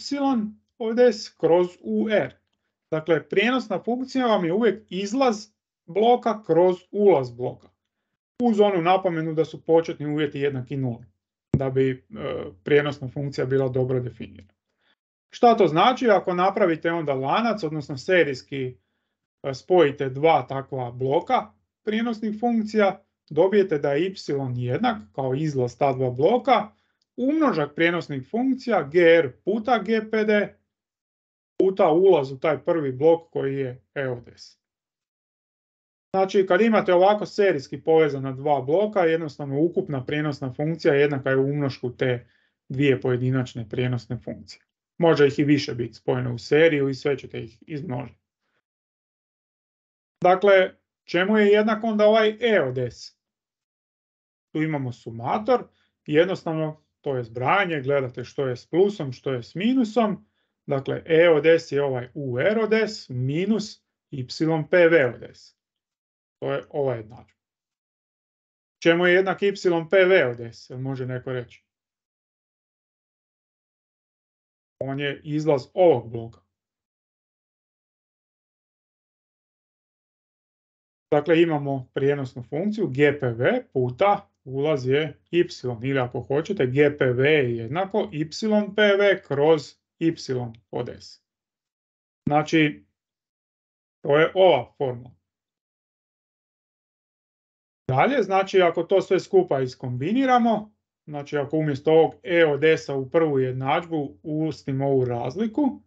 od s kroz ur. Dakle, prijenosna funkcija vam je uvijek izlaz bloka kroz ulaz bloka. Uz onu napomenu da su početni uvjeti jednaki nuli, da bi prijenosna funkcija bila dobro definirana. Šta to znači? Ako napravite onda lanac, odnosno serijski spojite dva takva bloka prijenosnih funkcija, dobijete da je y jednak kao izlaz ta dva bloka, umnožak prijenosnih funkcija gr puta gpd puta ulaz u taj prvi blok koji je e od s. Znači, kad imate ovako serijski povezana dva bloka, jednostavno ukupna prijenosna funkcija jednaka je umnošku te dvije pojedinačne prijenosne funkcije. Može ih i više biti spojene u seriju i sve ćete ih izmnožiti. Dakle, čemu je jednak onda ovaj E od S? Tu imamo sumator i jednostavno to je zbrajanje, gledate što je s plusom, što je s minusom. Dakle, E od S je ovaj UR od S minus YPV od S. To je ova jednadžba. Čemu je jednak YPV od S? Može neko reći? On je izlaz ovog bloka. Dakle, imamo prijenosnu funkciju GPV puta ulaz je y, ili ako hoćete GPV je jednako YPV kroz y od S. Znači, to je ova formula. Dalje, znači ako to sve skupa iskombiniramo, znači ako umjesto ovog E od S-a u prvu jednadžbu ustimo ovu razliku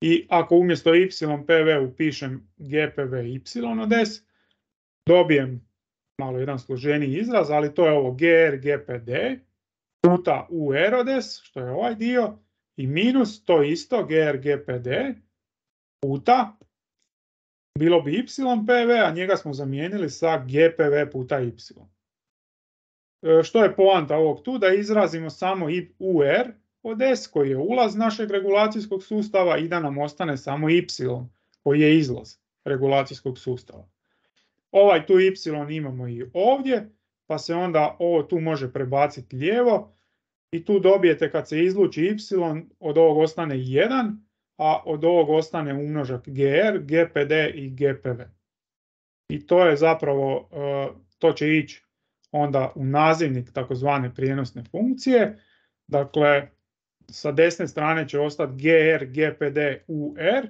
i ako umjesto YPV upišem GPV y od S, dobijem malo jedan složeniji izraz, ali to je ovo GR GPD puta UR od S, što je ovaj dio, i minus to isto GR GPD puta, bilo bi YPV, a njega smo zamijenili sa GPV puta Y. Što je poanta ovog tu? Da izrazimo samo UR od S koji je ulaz našeg regulacijskog sustava i da nam ostane samo Y koji je izlaz regulacijskog sustava. Ovaj tu Y imamo i ovdje, pa se onda ovo tu može prebaciti lijevo i tu dobijete kad se izluči Y, od ovog ostane 1, a od ovog ostane umnožak GR, GPD i GPV. I to je zapravo, to će ići onda u nazivnik takozvane prijenosne funkcije. Dakle, sa desne strane će ostati GR, GPD, UR.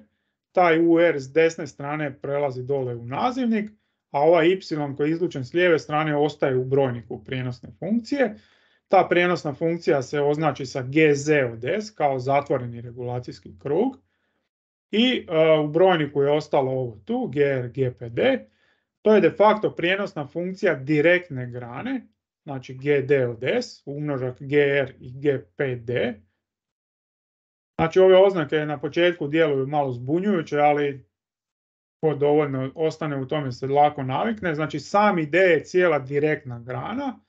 Taj UR s desne strane prelazi dole u nazivnik, a ovaj Y koji je izlučen s lijeve strane ostaje u brojniku prijenosne funkcije. Ta prijenosna funkcija se označi sa GZ od S kao zatvoreni regulacijski krug. I u brojniku je ostalo ovo tu, GR, GPD. To je de facto prijenosna funkcija direktne grane, znači GD od S, umnožak GR i GPD. Znači ove oznake na početku djeluju malo zbunjujuće, ali ko dovoljno ostane u tome se lako navikne. Znači sami D je cijela direktna grana,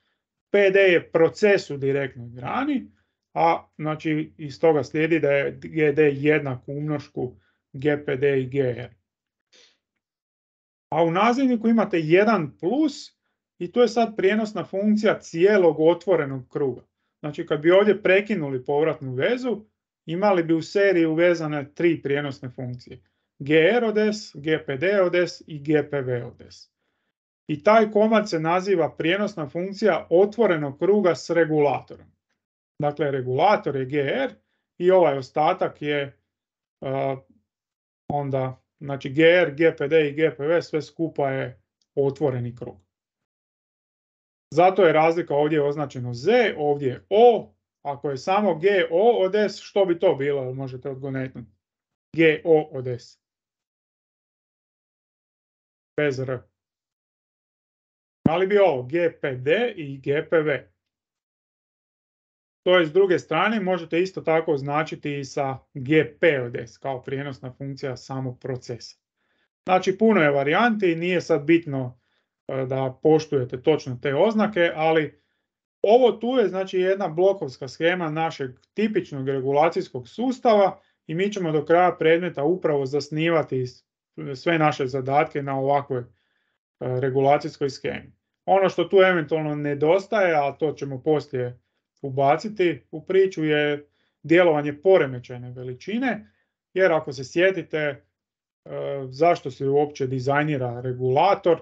PD je proces u direktnoj grani, a znači iz toga slijedi da je GD jednak umnošku GPD i GR. A u nazivniku imate 1 plus i to je sad prijenosna funkcija cijelog otvorenog kruga. Znači kad bi ovdje prekinuli povratnu vezu, imali bi u seriji uvezane 3 prijenosne funkcije. GR od S, GPD od S i GPV od S. I taj komad se naziva prijenosna funkcija otvorenog kruga s regulatorom. Dakle, regulator je GR i ovaj ostatak je onda, znači GR, GPD i GPV sve skupa je otvoreni krug. Zato je razlika ovdje označeno Z, ovdje je O. Ako je samo GO od S, što bi to bilo? Možete odgonetnuti. GO od S. Bez R. Ali bi ovo GPD i GPV. To je s druge strane, možete isto tako označiti i sa GP od S kao prijenosna funkcija samog procesa. Znači puno je varijanti, nije sad bitno da poštujete točno te oznake, ali ovo tu je znači jedna blokovska shema našeg tipičnog regulacijskog sustava i mi ćemo do kraja predmeta upravo zasnivati sve naše zadatke na ovakvoj regulacijskoj shemi. Ono što tu eventualno nedostaje, a to ćemo poslije ubaciti u priču, je djelovanje poremećajne veličine, jer ako se sjetite zašto se uopće dizajnira regulator,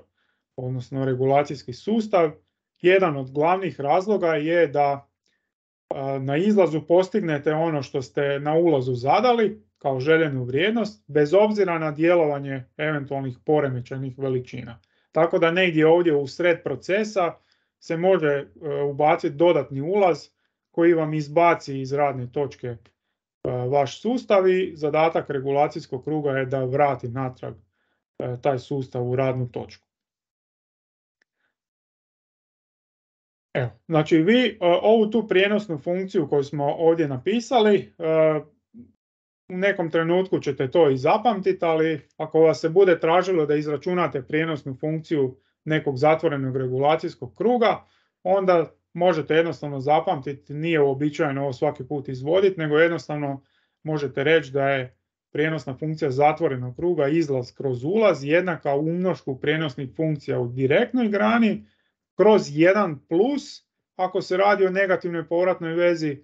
odnosno regulacijski sustav, jedan od glavnih razloga je da na izlazu postignete ono što ste na ulazu zadali kao željenu vrijednost, bez obzira na djelovanje eventualnih poremećajnih veličina. Tako da negdje ovdje u sred procesa se može ubaciti dodatni ulaz koji vam izbaci iz radne točke vaš sustav i zadatak regulacijskog kruga je da vrati natrag taj sustav u radnu točku. Evo, znači vi ovu tu prijenosnu funkciju koju smo ovdje napisali, u nekom trenutku ćete to i zapamtiti, ali ako vas se bude tražilo da izračunate prijenosnu funkciju nekog zatvorenog regulacijskog kruga, onda možete jednostavno zapamtiti, nije uobičajeno ovo svaki put izvoditi, nego jednostavno možete reći da je prijenosna funkcija zatvorenog kruga izlaz kroz ulaz jednaka umnošku prijenosnih funkcija u direktnoj grani kroz 1 plus ako se radi o negativnoj povratnoj vezi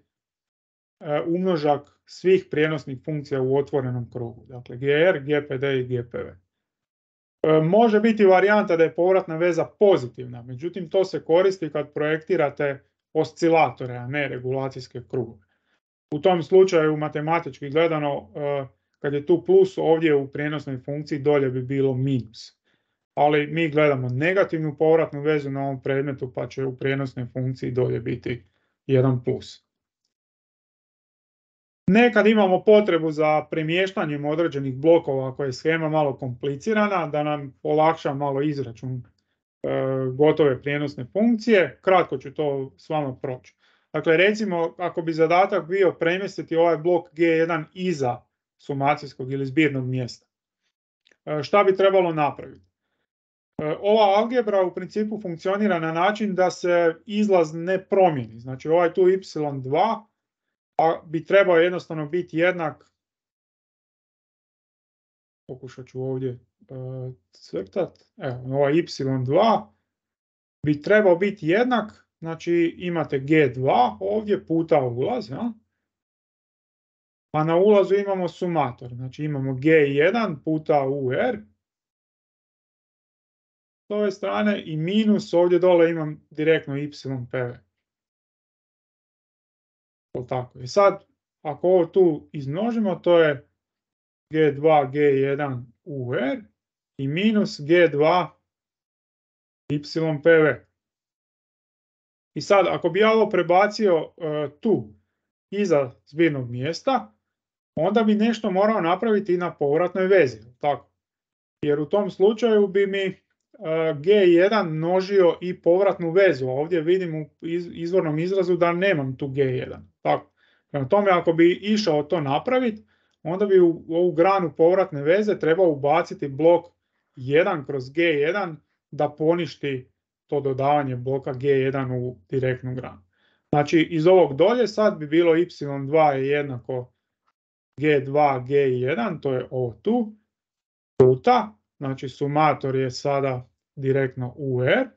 umnožak svih prijenosnih funkcija u otvorenom krugu, dakle GR, GPD i GPV. Može biti varijanta da je povratna veza pozitivna, međutim to se koristi kad projektirate oscilatore, a ne regulacijske krugove. U tom slučaju matematički gledano, kad je tu plus, ovdje u prijenosnoj funkciji dolje bi bilo minus. Ali mi gledamo negativnu povratnu vezu na ovom predmetu, pa će u prijenosnoj funkciji dolje biti 1 plus. Nekad imamo potrebu za premještanjem određenih blokova ako je shema malo komplicirana, da nam olakša malo izračun gotove prijenosne funkcije. Kratko ću to s vama proći. Dakle, recimo, ako bi zadatak bio premjestiti ovaj blok G1 iza sumacijskog ili zbirnog mjesta, šta bi trebalo napraviti? Ova algebra u principu funkcionira na način da se izlaz ne promijeni. Znači, ovaj tu y2 bi trebao jednostavno biti jednak, pokušat ću ovdje crtat, evo, ovaj y2 bi trebao biti jednak, znači imate G2 ovdje puta ulaz, ja? A na ulazu imamo sumator, znači imamo G1 puta UR s ove strane i minus ovdje dole imam direktno YPV. Tako. I sad, ako ovo tu izmnožimo, to je G2, G1 UR i minus G2 YPV. I sad, ako bi ja ovo prebacio tu, iza zbirnog mjesta, onda bi nešto morao napraviti i na povratnoj vezi. Tako. Jer u tom slučaju bi mi G1 množio i povratnu vezu. Ovdje vidim u izvornom izrazu da nemam tu G1. Tako. Prema tome, ako bi išao to napraviti, onda bi u ovu granu povratne veze trebao ubaciti blok 1 kroz G1 da poništi to dodavanje bloka G1 u direktnu granu. Znači, iz ovog dolje sad bi bilo y2 je jednako G2, G1, to je ovo tu, puta, znači sumator je sada direktno UR,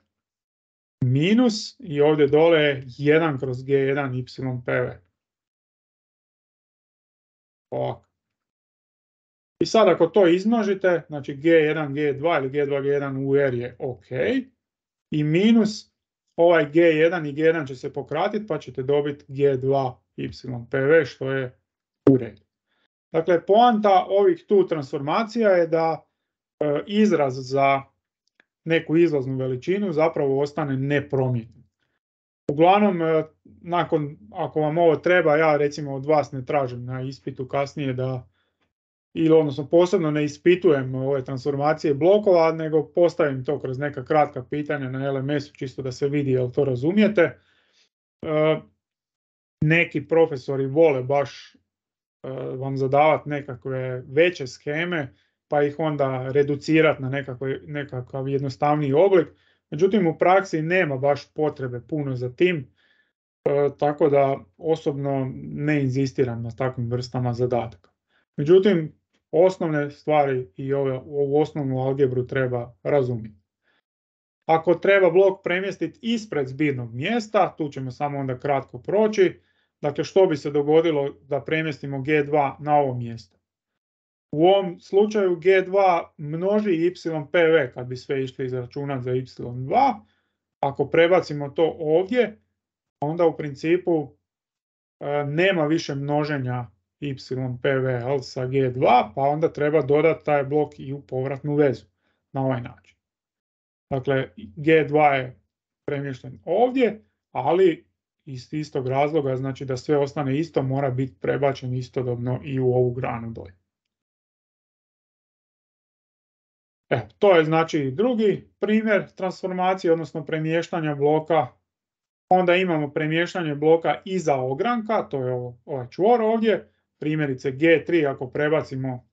minus i ovdje dole je 1 kroz G1 YPV. Ovako. I sad ako to izmnožite, znači G1, G2 ili G2, G1 UR je ok, i minus ovaj G1 i G1 će se pokratiti pa ćete dobiti G2 YPV što je u redu. Dakle, poanta ovih tu transformacija je da izraz za neku izlaznu veličinu zapravo ostane nepromijenjen. Uglavnom, ako vam ovo treba, ja recimo od vas ne tražim na ispitu kasnije da, ili odnosno posebno ne ispitujem ove transformacije blokova, nego postavim to kroz neka kratka pitanja na LMS-u čisto da se vidi jel to razumijete. Neki profesori vole baš vam zadavati nekakve veće sheme pa ih onda reducirati na nekakav jednostavniji oblik. Međutim, u praksi nema baš potrebe puno za tim, tako da osobno ne inzistiram na takvim vrstama zadataka. Međutim, osnovne stvari i ovu osnovnu algebru treba razumjeti. Ako treba blok premjestiti ispred zbirnog mjesta, tu ćemo samo onda kratko proći. Dakle, što bi se dogodilo da premjestimo G2 na ovo mjesto? U ovom slučaju G2 množi YPV kad bi sve išli izračunati za Y2. Ako prebacimo to ovdje, onda u principu nema više množenja YPV sa G2, pa onda treba dodati taj blok i u povratnu vezu na ovaj način. Dakle, G2 je premješten ovdje, ali iz istog razloga, znači da sve ostane isto, mora biti prebačen istodobno i u ovu granu dolje. To je znači drugi primjer transformacije, odnosno premještanja bloka Onda imamo premještanje bloka iza ogranka, to je ovaj čvor ovdje, primjerice G3 ako prebacimo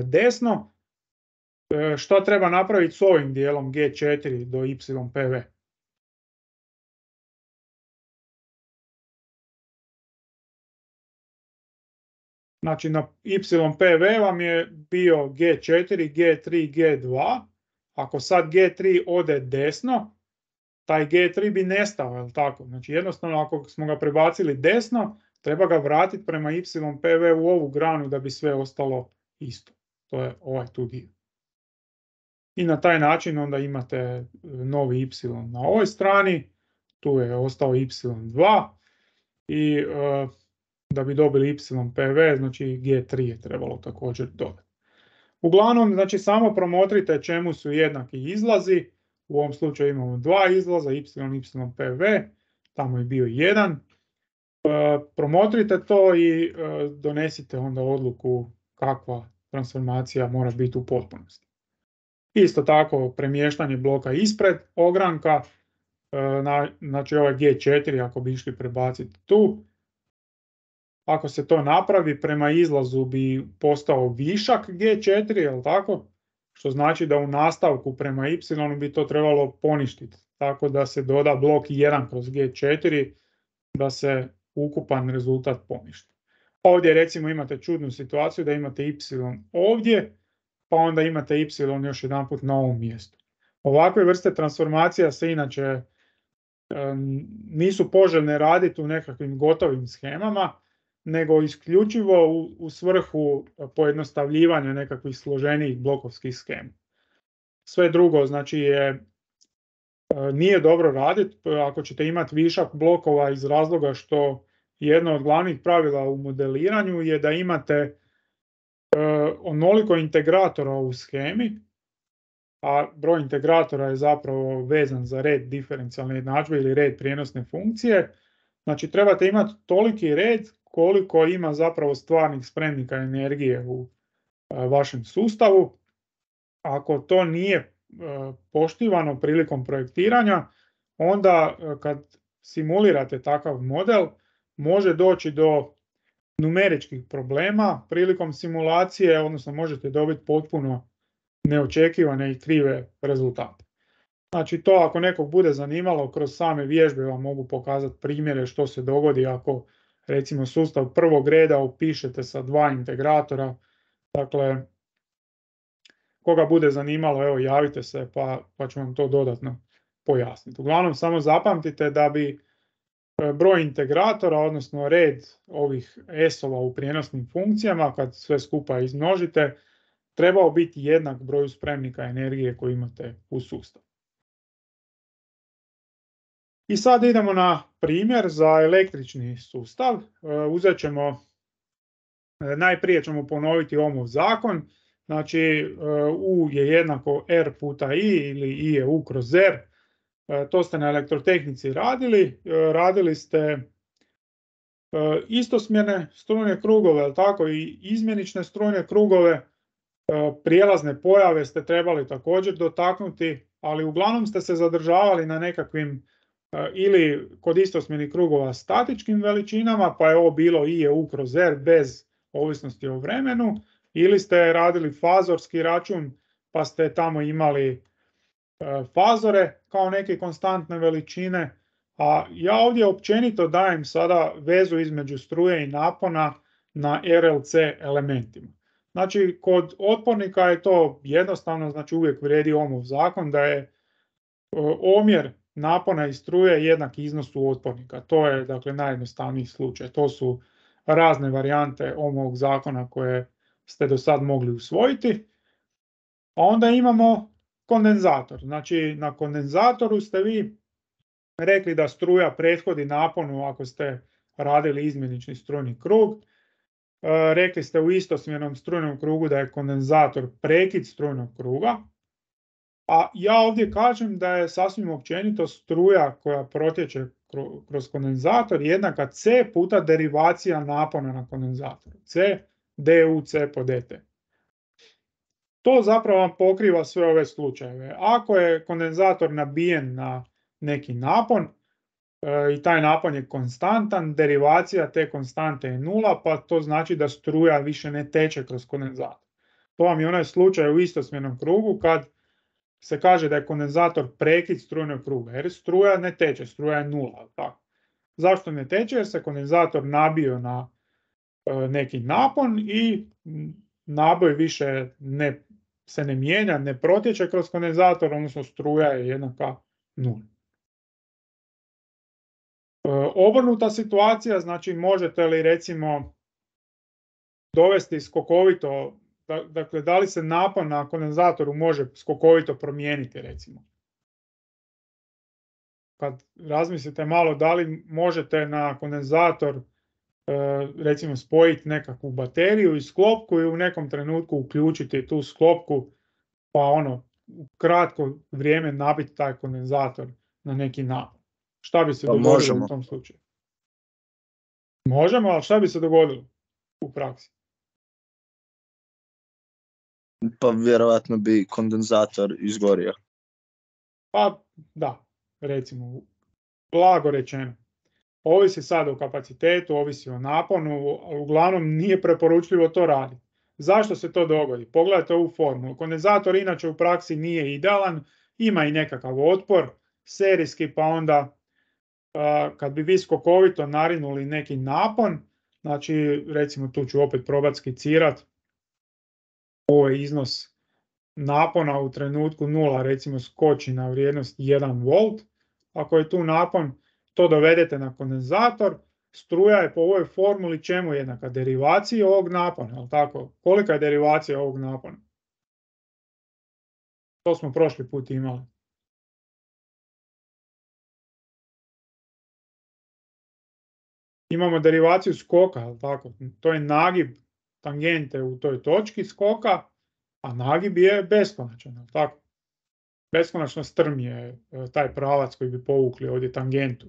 desno. Što treba napraviti s ovim dijelom G4 do YPV? Znači na YPV vam je bio G4, G3, G2. Ako sad G3 ode desno, taj G3 bi nestao, je li tako? Znači jednostavno ako smo ga prebacili desno, treba ga vratiti prema YPV u ovu granu da bi sve ostalo isto. To je ovaj tu dio. I na taj način onda imate novi Y na ovoj strani, tu je ostao Y2 i da bi dobili YPV, znači G3 je trebalo također dodati. Uglavnom, znači samo promotrite čemu su jednaki izlazi. U ovom slučaju imamo dva izlaza, Y, YPV, tamo je bio jedan. Promotrite to i donesite onda odluku kakva transformacija mora biti u potpunosti. Isto tako premještanje bloka ispred ogranka, znači ovaj G4 ako bi išli prebaciti tu. Ako se to napravi, prema izlazu bi postao višak G4, jel tako? Što znači da u nastavku prema Y bi to trebalo poništiti. Tako da se doda blok 1 kroz G4 da se ukupan rezultat poništi. Ovdje recimo imate čudnu situaciju da imate Y ovdje, pa onda imate Y još jedanput na ovom mjestu. Ovakve vrste transformacija se inače nisu poželjne raditi u nekakvim gotovim shemama, nego isključivo u svrhu pojednostavljivanja nekakvih složenijih blokovskih shema. Sve drugo znači nije dobro raditi ako ćete imati višak blokova iz razloga što jedno od glavnih pravila u modeliranju je da imate onoliko integratora u shemi, a broj integratora je zapravo vezan za red diferencijalne jednadžbe ili red prijenosne funkcije. Znači trebate imati toliki red koliko ima zapravo stvarnih spremnika energije u vašem sustavu. Ako to nije poštivano prilikom projektiranja, onda kad simulirate takav model može doći do numeričkih problema prilikom simulacije, odnosno možete dobiti potpuno neočekivane i krive rezultate. Znači to ako nekog bude zanimalo, kroz same vježbe vam mogu pokazati primjere što se dogodi ako recimo sustav prvog reda upišete sa dva integratora. Dakle, koga bude zanimalo, evo javite se pa ću vam to dodatno pojasniti. Uglavnom samo zapamtite da bi broj integratora, odnosno red ovih S-ova u prijenosnim funkcijama, kad sve skupa izmnožite, trebao biti jednak broju spremnika energije koji imate u sustavu. I sad idemo na primjer za električni sustav. Uzet ćemo, najprije ćemo ponoviti Ohmov zakon. Znači U je jednako R puta I ili I je U kroz R. To ste na elektrotehnici radili. Radili ste istosmjerne strujne krugove, ali tako i izmjenične strujne krugove. Prijelazne pojave ste trebali također dotaknuti, ali uglavnom ste se zadržavali na nekakvim ili kod istosmjernih krugova statičkim veličinama, pa je ovo bilo I je U kroz R bez ovisnosti o vremenu, ili ste radili fazorski račun pa ste tamo imali fazore kao neke konstantne veličine, a ja ovdje općenito dajem sada vezu između struje i napona na RLC elementima. Znači kod otpornika je to jednostavno, znači uvijek vrijedi Ohmov zakon da je omjer napona i struje jednak iznosu otpornika. To je dakle najjednostavniji slučaj. To su razne varijante Ohmovog zakona koje ste do sad mogli usvojiti. A onda imamo kondenzator. Znači na kondenzatoru ste vi rekli da struja prethodi naponu ako ste radili izmjenični strujni krug. Rekli ste u istosmjernom strujnom krugu da je kondenzator prekid strujnog kruga. A ja ovdje kažem da je sasvim općenito struja koja protječe kroz kondenzator jednaka C puta derivacija napona na kondenzatoru. C du C po dt. To zapravo vam pokriva sve ove slučajeve. Ako je kondenzator nabijen na neki napon, i taj napon je konstantan, derivacija te konstante je 0, pa to znači da struja više ne teče kroz kondenzator. To vam je onaj slučaj u istosmjernom krugu kad se kaže da je kondenzator prekid strujnog kruga, jer struja ne teče, struja je 0. Tako. Zašto ne teče? Jer se kondenzator nabio na neki napon i naboj više se ne mijenja, ne protječe kroz kondenzator, odnosno struja je jednaka 0. Obrnuta situacija, znači možete li recimo dovesti skokovito, dakle da li se napon na kondenzatoru može skokovito promijeniti recimo. Kad razmislite malo da li možete na kondenzator recimo spojiti nekakvu bateriju i sklopku i u nekom trenutku uključiti tu sklopku pa u kratko vrijeme nabiti taj kondenzator na neki napon. Šta bi se dogodilo u tom slučaju? Možemo, ali šta bi se dogodilo u praksi? Pa vjerojatno bi kondenzator izgorio. Pa da, recimo, blago rečeno. Ovisi sad o kapacitetu, ovisi o naponu, ali uglavnom nije preporučljivo to raditi. Zašto se to dogodi? Pogledajte ovu formulu. Kondenzator inače u praksi nije idealan, ima i nekakav otpor, serijski, pa onda kad bi vi skokovito narinuli neki napon, znači recimo tu ću opet probati skicirat, ovo je iznos napona u trenutku 0, recimo skoči na vrijednost 1 volt, ako je tu napon, to dovedete na kondenzator, struja je po ovoj formuli čemu jednaka? Derivaciji ovog napona, jel tako? Kolika je derivacija ovog napona? To smo prošli put imali. Imamo derivaciju skoka, jel tako? To je nagib tangente u toj točki skoka, a nagib je beskonačan, jel tako? Beskonačno strm je taj pravac koji bi povukli ovdje tangentu.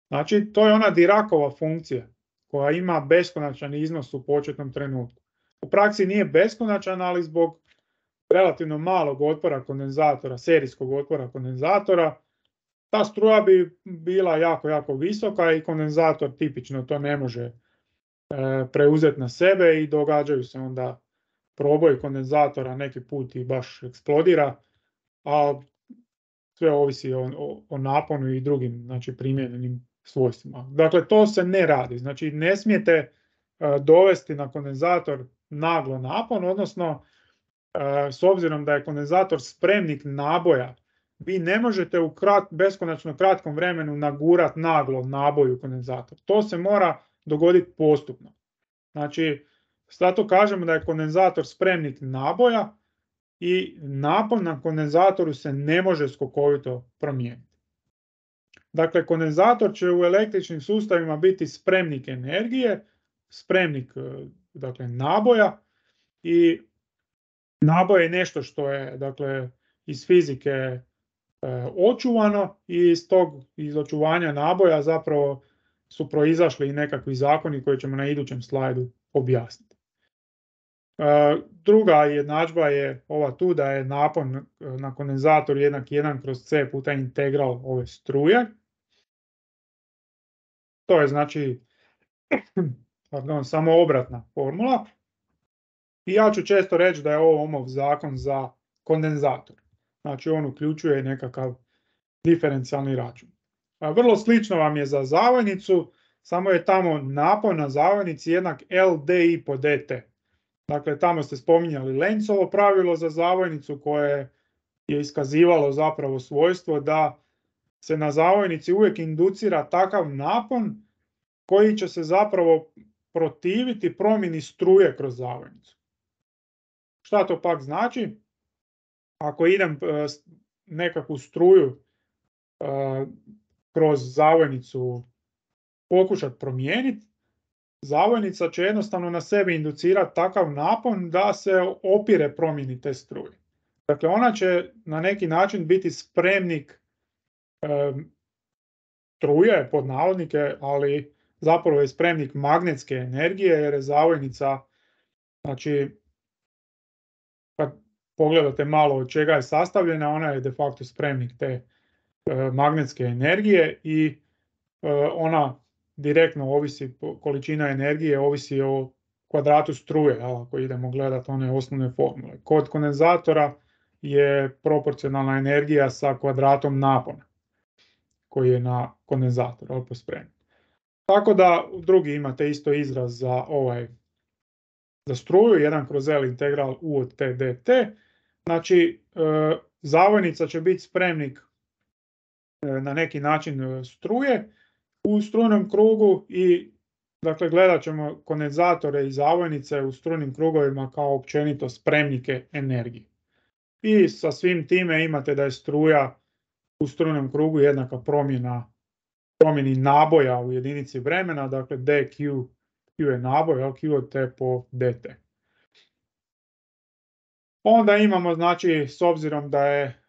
Znači, to je ona Diracova funkcija koja ima beskonačan iznos u početnom trenutku. U praksi nije beskonačan, ali zbog relativno malog otpora kondenzatora, serijskog otpora kondenzatora, ta struja bi bila jako, jako visoka i kondenzator tipično to ne može preuzeti na sebe i događaju se onda proboj kondenzatora, neki put i baš eksplodira, a sve ovisi o naponu i drugim, znači, primijenjenim svojstvima. Dakle, to se ne radi. Znači, ne smijete dovesti na kondenzator naglo napon, odnosno s obzirom da je kondenzator spremnik naboja, vi ne možete u beskonačno kratkom vremenu nagurati naglo naboj u kondenzator. To se mora dogoditi postupno. Znači, zato kažemo da je kondenzator spremnik naboja i napon na kondenzatoru se ne može skokovito promijeniti. Dakle, kondenzator će u električnim sustavima biti spremnik energije, spremnik, dakle, naboja, i naboj je nešto što je, dakle, iz fizike očuvano i iz očuvanja naboja zapravo su proizašli i nekakvi zakoni koje ćemo na idućem slajdu objasniti. Druga jednadžba je ova tu, da je napon na kondenzatoru jednak 1 kroz C puta integral ove struje. To je znači samo obratna formula. I ja ću često reći da je ovo Ohmov zakon za kondenzator. Znači on uključuje nekakav diferencijalni račun. Vrlo slično vam je za zavojnicu, samo je tamo napon na zavojnici jednak LDI po dt. Dakle, tamo ste spominjali Lenzovo pravilo za zavojnicu koje je iskazivalo zapravo svojstvo da se na zavojnici uvijek inducira takav napon koji će se zapravo protiviti promjeni struje kroz zavojnicu. Šta to pak znači? Ako idem nekakvu struju kroz zavojnicu pokušati promijeniti, zavojnica će jednostavno na sebi inducirati takav napon da se opire promjeni te struje. Dakle, ona će na neki način biti spremnik struje, pod navodnike, ali zapravo je spremnik magnetske energije, jer je zavojnica, znači, kad pogledate malo od čega je sastavljena, ona je de facto spremnik te magnetske energije i ona direktno ovisi, količina energije ovisi o kvadratu struje, ako idemo gledati one osnovne formule. Kod kondenzatora je proporcionalna energija sa kvadratom napona koji je na kondenzatoru pospremljen. Tako da drugi imate isto izraz za za struju, 1/L integral U od T dt. Znači, zavojnica će biti spremnik na neki način struje u strujnom krugu i dakle gledat ćemo kondenzatore i zavojnice u strujnim krugovima kao općenito spremnike energije. I sa svim time imate da je struja u strujnom krugu jednaka promjeni naboja u jedinici vremena, dakle dq, q je naboj, q od t po dt. Onda imamo, znači, s obzirom da je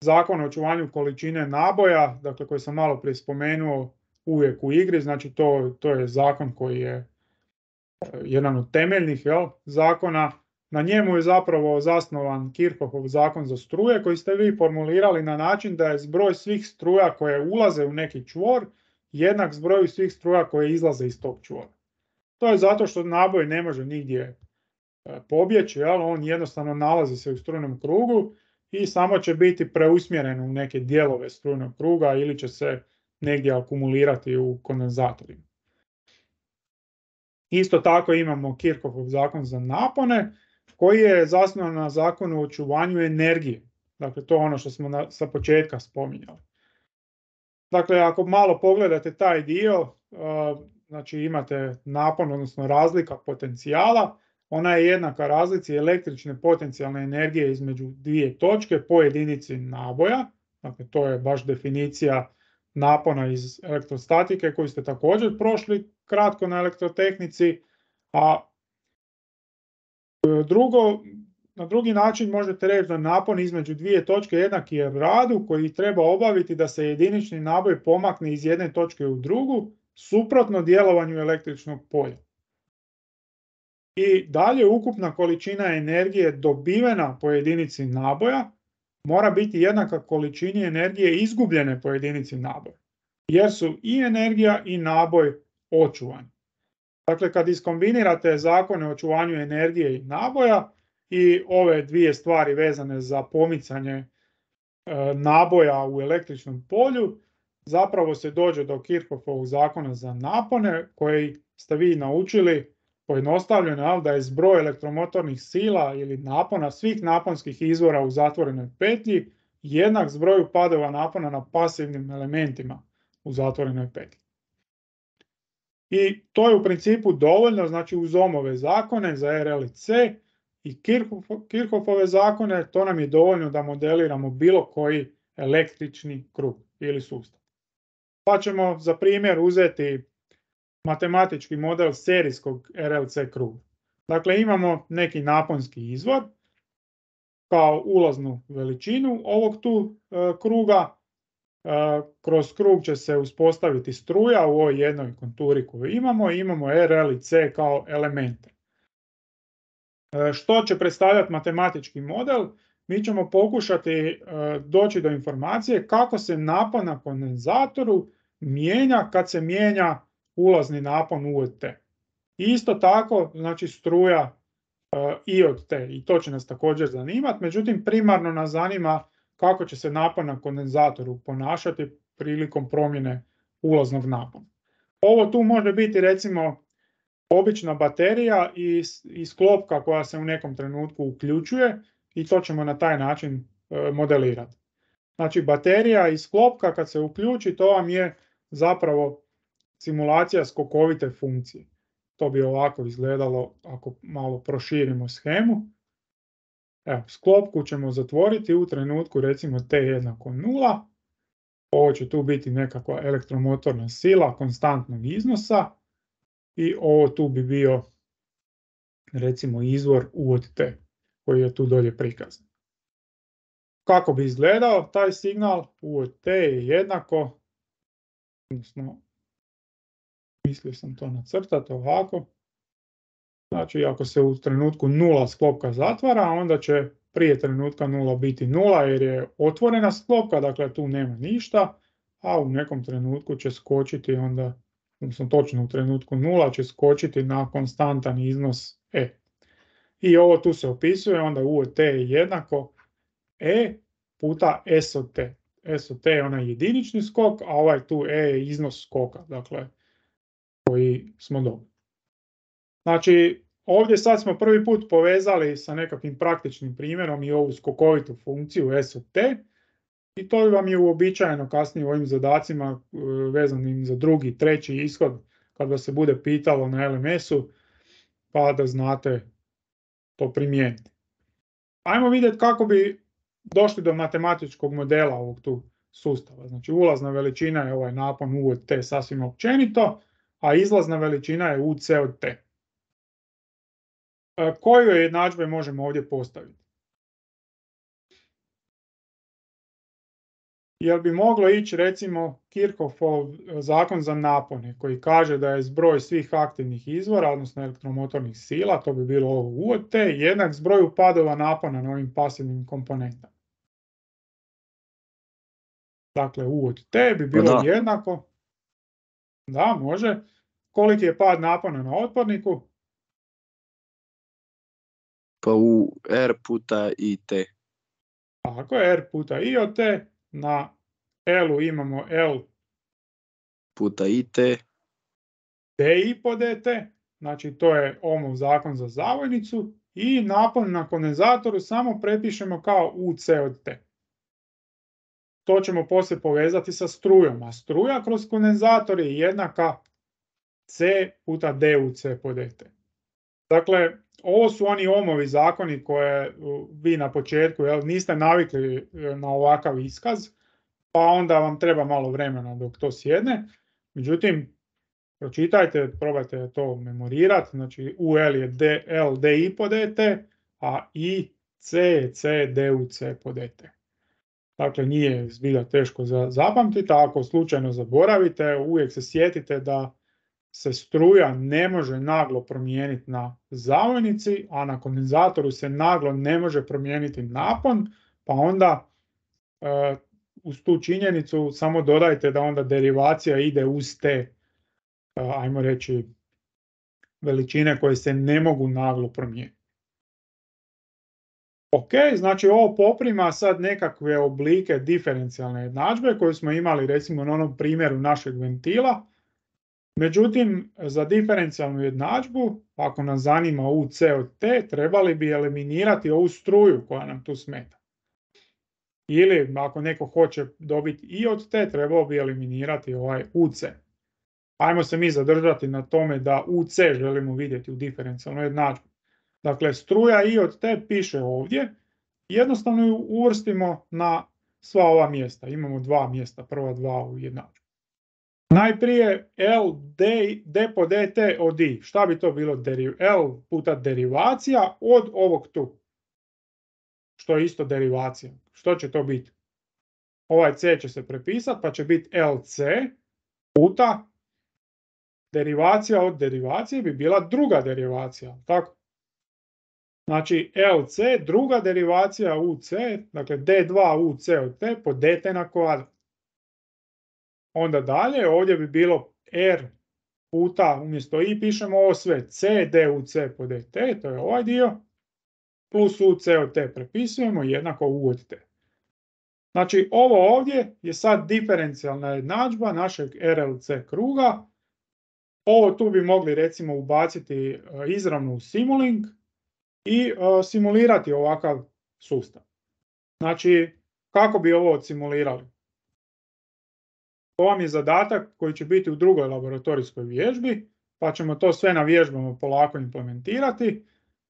zakon o očuvanju količine naboja, dakle koji sam malo prije spomenuo, uvijek u igri, znači to je zakon koji je jedan od temeljnih zakona. Na njemu je zapravo zasnovan Kirchhoffov zakon za struje koji ste vi formulirali na način da je zbroj svih struja koje ulaze u neki čvor jednak zbroju svih struja koje izlaze iz tog čvora. To je zato što naboj ne može nigdje pobjeći, on jednostavno nalazi se u strujnom krugu i samo će biti preusmjeren u neke dijelove strujnog kruga ili će se negdje akumulirati u kondenzatorima. Isto tako imamo Kirchhoffov zakon za napone koji je zasnovan na zakonu o očuvanju energije. Dakle, to je ono što smo sa početka spominjali. Dakle, ako malo pogledate taj dio, znači imate napon, odnosno razlika potencijala, ona je jednaka razlici električne potencijalne energije između dvije točke po jedinici naboja. Dakle, to je baš definicija napona iz elektrostatike koju ste također prošli kratko na elektrotehnici, a na drugi način možete reći da napon između dvije točke jednaki je radu koji treba obaviti da se jedinični naboj pomakne iz jedne točke u drugu, suprotno djelovanju električnog polja. I dalje ukupna količina energije dobivena po jedinici naboja mora biti jednaka količini energije izgubljene po jedinici naboja, jer su i energija i naboj očuvani. Dakle, kad iskombinirate zakone o očuvanju energije i naboja i ove dvije stvari vezane za pomicanje naboja u električnom polju, zapravo se dođe do Kirchhoffovog zakona za napone koji ste vi naučili pojednostavljeno, da je zbroj elektromotornih sila ili napona svih naponskih izvora u zatvorenoj petlji jednak zbroju padova napona na pasivnim elementima u zatvorenoj petlji. I to je u principu dovoljno, znači uz Ohmove zakone za RL i C i Kirchhoffove zakone, to nam je dovoljno da modeliramo bilo koji električni krug ili sustav. Pa ćemo za primjer uzeti matematički model serijskog RLC kruga. Dakle, imamo neki naponski izvor kao ulaznu veličinu ovog tu kruga. Kroz krug će se uspostaviti struja u ovoj jednoj konturi koju imamo. Imamo RL i C kao elemente. Što će predstavljati matematički model? Mi ćemo pokušati doći do informacije kako se napon na kondenzatoru mijenja kad se mijenja ulazni napon U od T. Isto tako, znači struja I od T, i to će nas također zanimati, međutim primarno nas zanima kako će se napon na kondenzatoru ponašati prilikom promjene ulaznog napona. Ovo tu može biti recimo obična baterija i sklopka koja se u nekom trenutku uključuje i to ćemo na taj način modelirati. Znači baterija i sklopka kad se uključi, to vam je zapravo simulacija skokovite funkcije. To bi ovako izgledalo ako malo proširimo shemu. Evo, sklopku ćemo zatvoriti u trenutku recimo t jednako 0. Ovo će tu biti nekakva elektromotorna sila konstantnog iznosa i ovo tu bi bio recimo izvor U od T koji je tu dolje prikazan. Kako bi izgledao taj signal? U od T je jednako, odnosno mislio sam to nacrtati ovako. Znači ako se u trenutku 0 sklopka zatvara, onda će prije trenutka 0 biti 0 jer je otvorena sklopka, dakle tu nema ništa, a u nekom trenutku će skočiti onda, odnosno točno u trenutku 0 će skočiti na konstantan iznos e. I ovo tu se opisuje, onda u od t je jednako e puta s od t. S od t je onaj jedinični skok, a ovaj tu e je iznos skoka, dakle koji smo dobili. Znači, ovdje sad smo prvi put povezali sa nekakvim praktičnim primjerom i ovu skokovitu funkciju s od t i to vam je uobičajeno kasnije u ovim zadacima vezanim za drugi, treći ishod kad vas se bude pitalo na LMS-u pa da znate to primijeniti. Ajmo vidjeti kako bi došli do matematičkog modela ovog tu sustava. Znači ulazna veličina je ovaj napon u od t sasvim općenito, a izlazna veličina je uc od t. Koje jednadžbe možemo ovdje postaviti? Jer bi moglo ići recimo Kirchhoffov zakon za napone koji kaže da je zbroj svih aktivnih izvora, odnosno elektromotornih sila, to bi bilo ovo U od T, jednak zbroju padova napona na ovim pasivnim komponentama. Dakle, U od T bi bilo jednako, da može, koliki je pad napona na otporniku? Pa u R puta IT. Tako je, R puta I od T, na L-u imamo L puta IT. DI po dt, znači to je Ohmov zakon za zavojnicu i napon na kondenzatoru samo prepišemo kao UC od T. To ćemo poslije povezati sa strujom, a struja kroz kondenzator je jednaka C puta DUC po dt. Dakle, ovo su oni Ohmovi zakoni koje vi na početku niste navikli na ovakav iskaz, pa onda vam treba malo vremena dok to sjedne. Međutim, pročitajte, probajte to memorirati, znači UL je L DI po dt, a I C je C DUC po dt. Dakle, nije zbilja teško zapamtiti, a ako slučajno zaboravite, uvijek se sjetite da se struja ne može naglo promijeniti na zavojnici, a na kondenzatoru se naglo ne može promijeniti napon, pa onda uz tu činjenicu samo dodajte da onda derivacija ide uz te, ajmo reći, veličine koje se ne mogu naglo promijeniti. Ok, znači ovo poprima sad nekakve oblike diferencijalne jednadžbe koje smo imali recimo na onom primjeru našeg ventila. Međutim, za diferencijalnu jednadžbu, ako nas zanima UC od T, trebali bi eliminirati ovu struju koja nam tu smeta. Ili ako neko hoće dobiti I od T, trebalo bi eliminirati ovaj UC. Ajmo se mi zadržati na tome da UC želimo vidjeti u diferencijalnoj jednadžbi. Dakle, struja I od T piše ovdje, jednostavno ju uvrstimo na sva ova mjesta. Imamo dva mjesta, prva dva u jednadžbi. Najprije L D po dt od I. Šta bi to bilo? L puta derivacija od ovog tu. Što je isto derivacija. Što će to biti? Ovaj C će se prepisati pa će biti LC puta derivacija od derivacije bi bila druga derivacija. Tako? Znači LC, druga derivacija UC, dakle D2 UC od T po dt na kvadrat. Onda dalje, ovdje bi bilo R puta, umjesto I pišemo ovo sve, C DUC po dt, to je ovaj dio, plus UC od T prepisujemo, jednako U od T. Znači ovo ovdje je sad diferencijalna jednadžba našeg RLC kruga. Ovo tu bi mogli recimo ubaciti izravno u Simulink i simulirati ovakav sustav. Znači, kako bi ovo odsimulirali? To vam je zadatak koji će biti u drugoj laboratorijskoj vježbi, pa ćemo to sve na vježbama polako implementirati.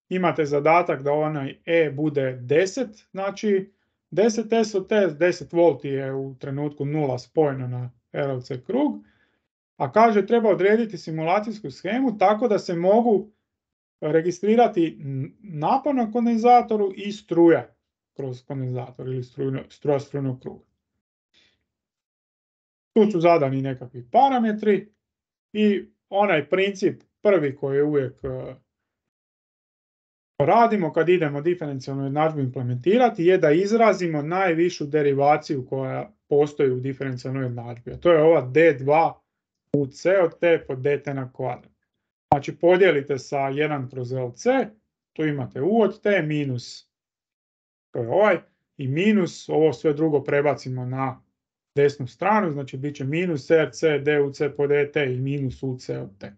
Imate zadatak da onaj E bude 10, znači 10 S od T, 10 volti je u trenutku 0 spojeno na RLC krug, a kaže treba odrediti simulacijsku shemu tako da se mogu registrirati napon na kondenzatoru i struja kroz kondenzator ili struja strujnog kruga. Tu su zadani nekakvi parametri i onaj princip prvi koji je uvijek radimo kad idemo diferencijalnu jednadžbu implementirati je da izrazimo najvišu derivaciju koja postoji u diferencijalnoj jednadžbi. A to je ova d2 uc od t po dt na kvadrat. Znači podijelite sa 1 kroz LC, tu imate u od t minus, to je ovaj, i minus, ovo sve drugo prebacimo na desnu stranu, znači bit će minus rc duc po dt i minus uc od t.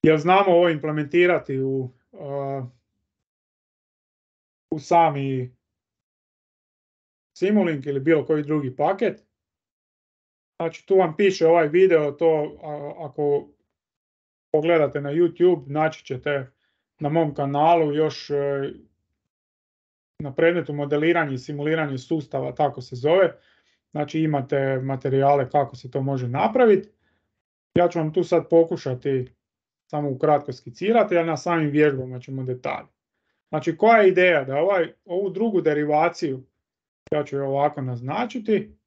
Jer znamo ovo implementirati u sami Simulink ili bilo koji drugi paket. Znači tu vam piše ovaj video, to ako pogledate na YouTube, naći ćete na mom kanalu još na predmetu modeliranje i simuliranje sustava, tako se zove. Znači imate materijale kako se to može napraviti. Ja ću vam tu sad pokušati samo ukratko skicirati, a na samim vježbama ćemo detalje. Znači koja je ideja? Da ovu drugu derivaciju, ja ću je ovako naznačiti,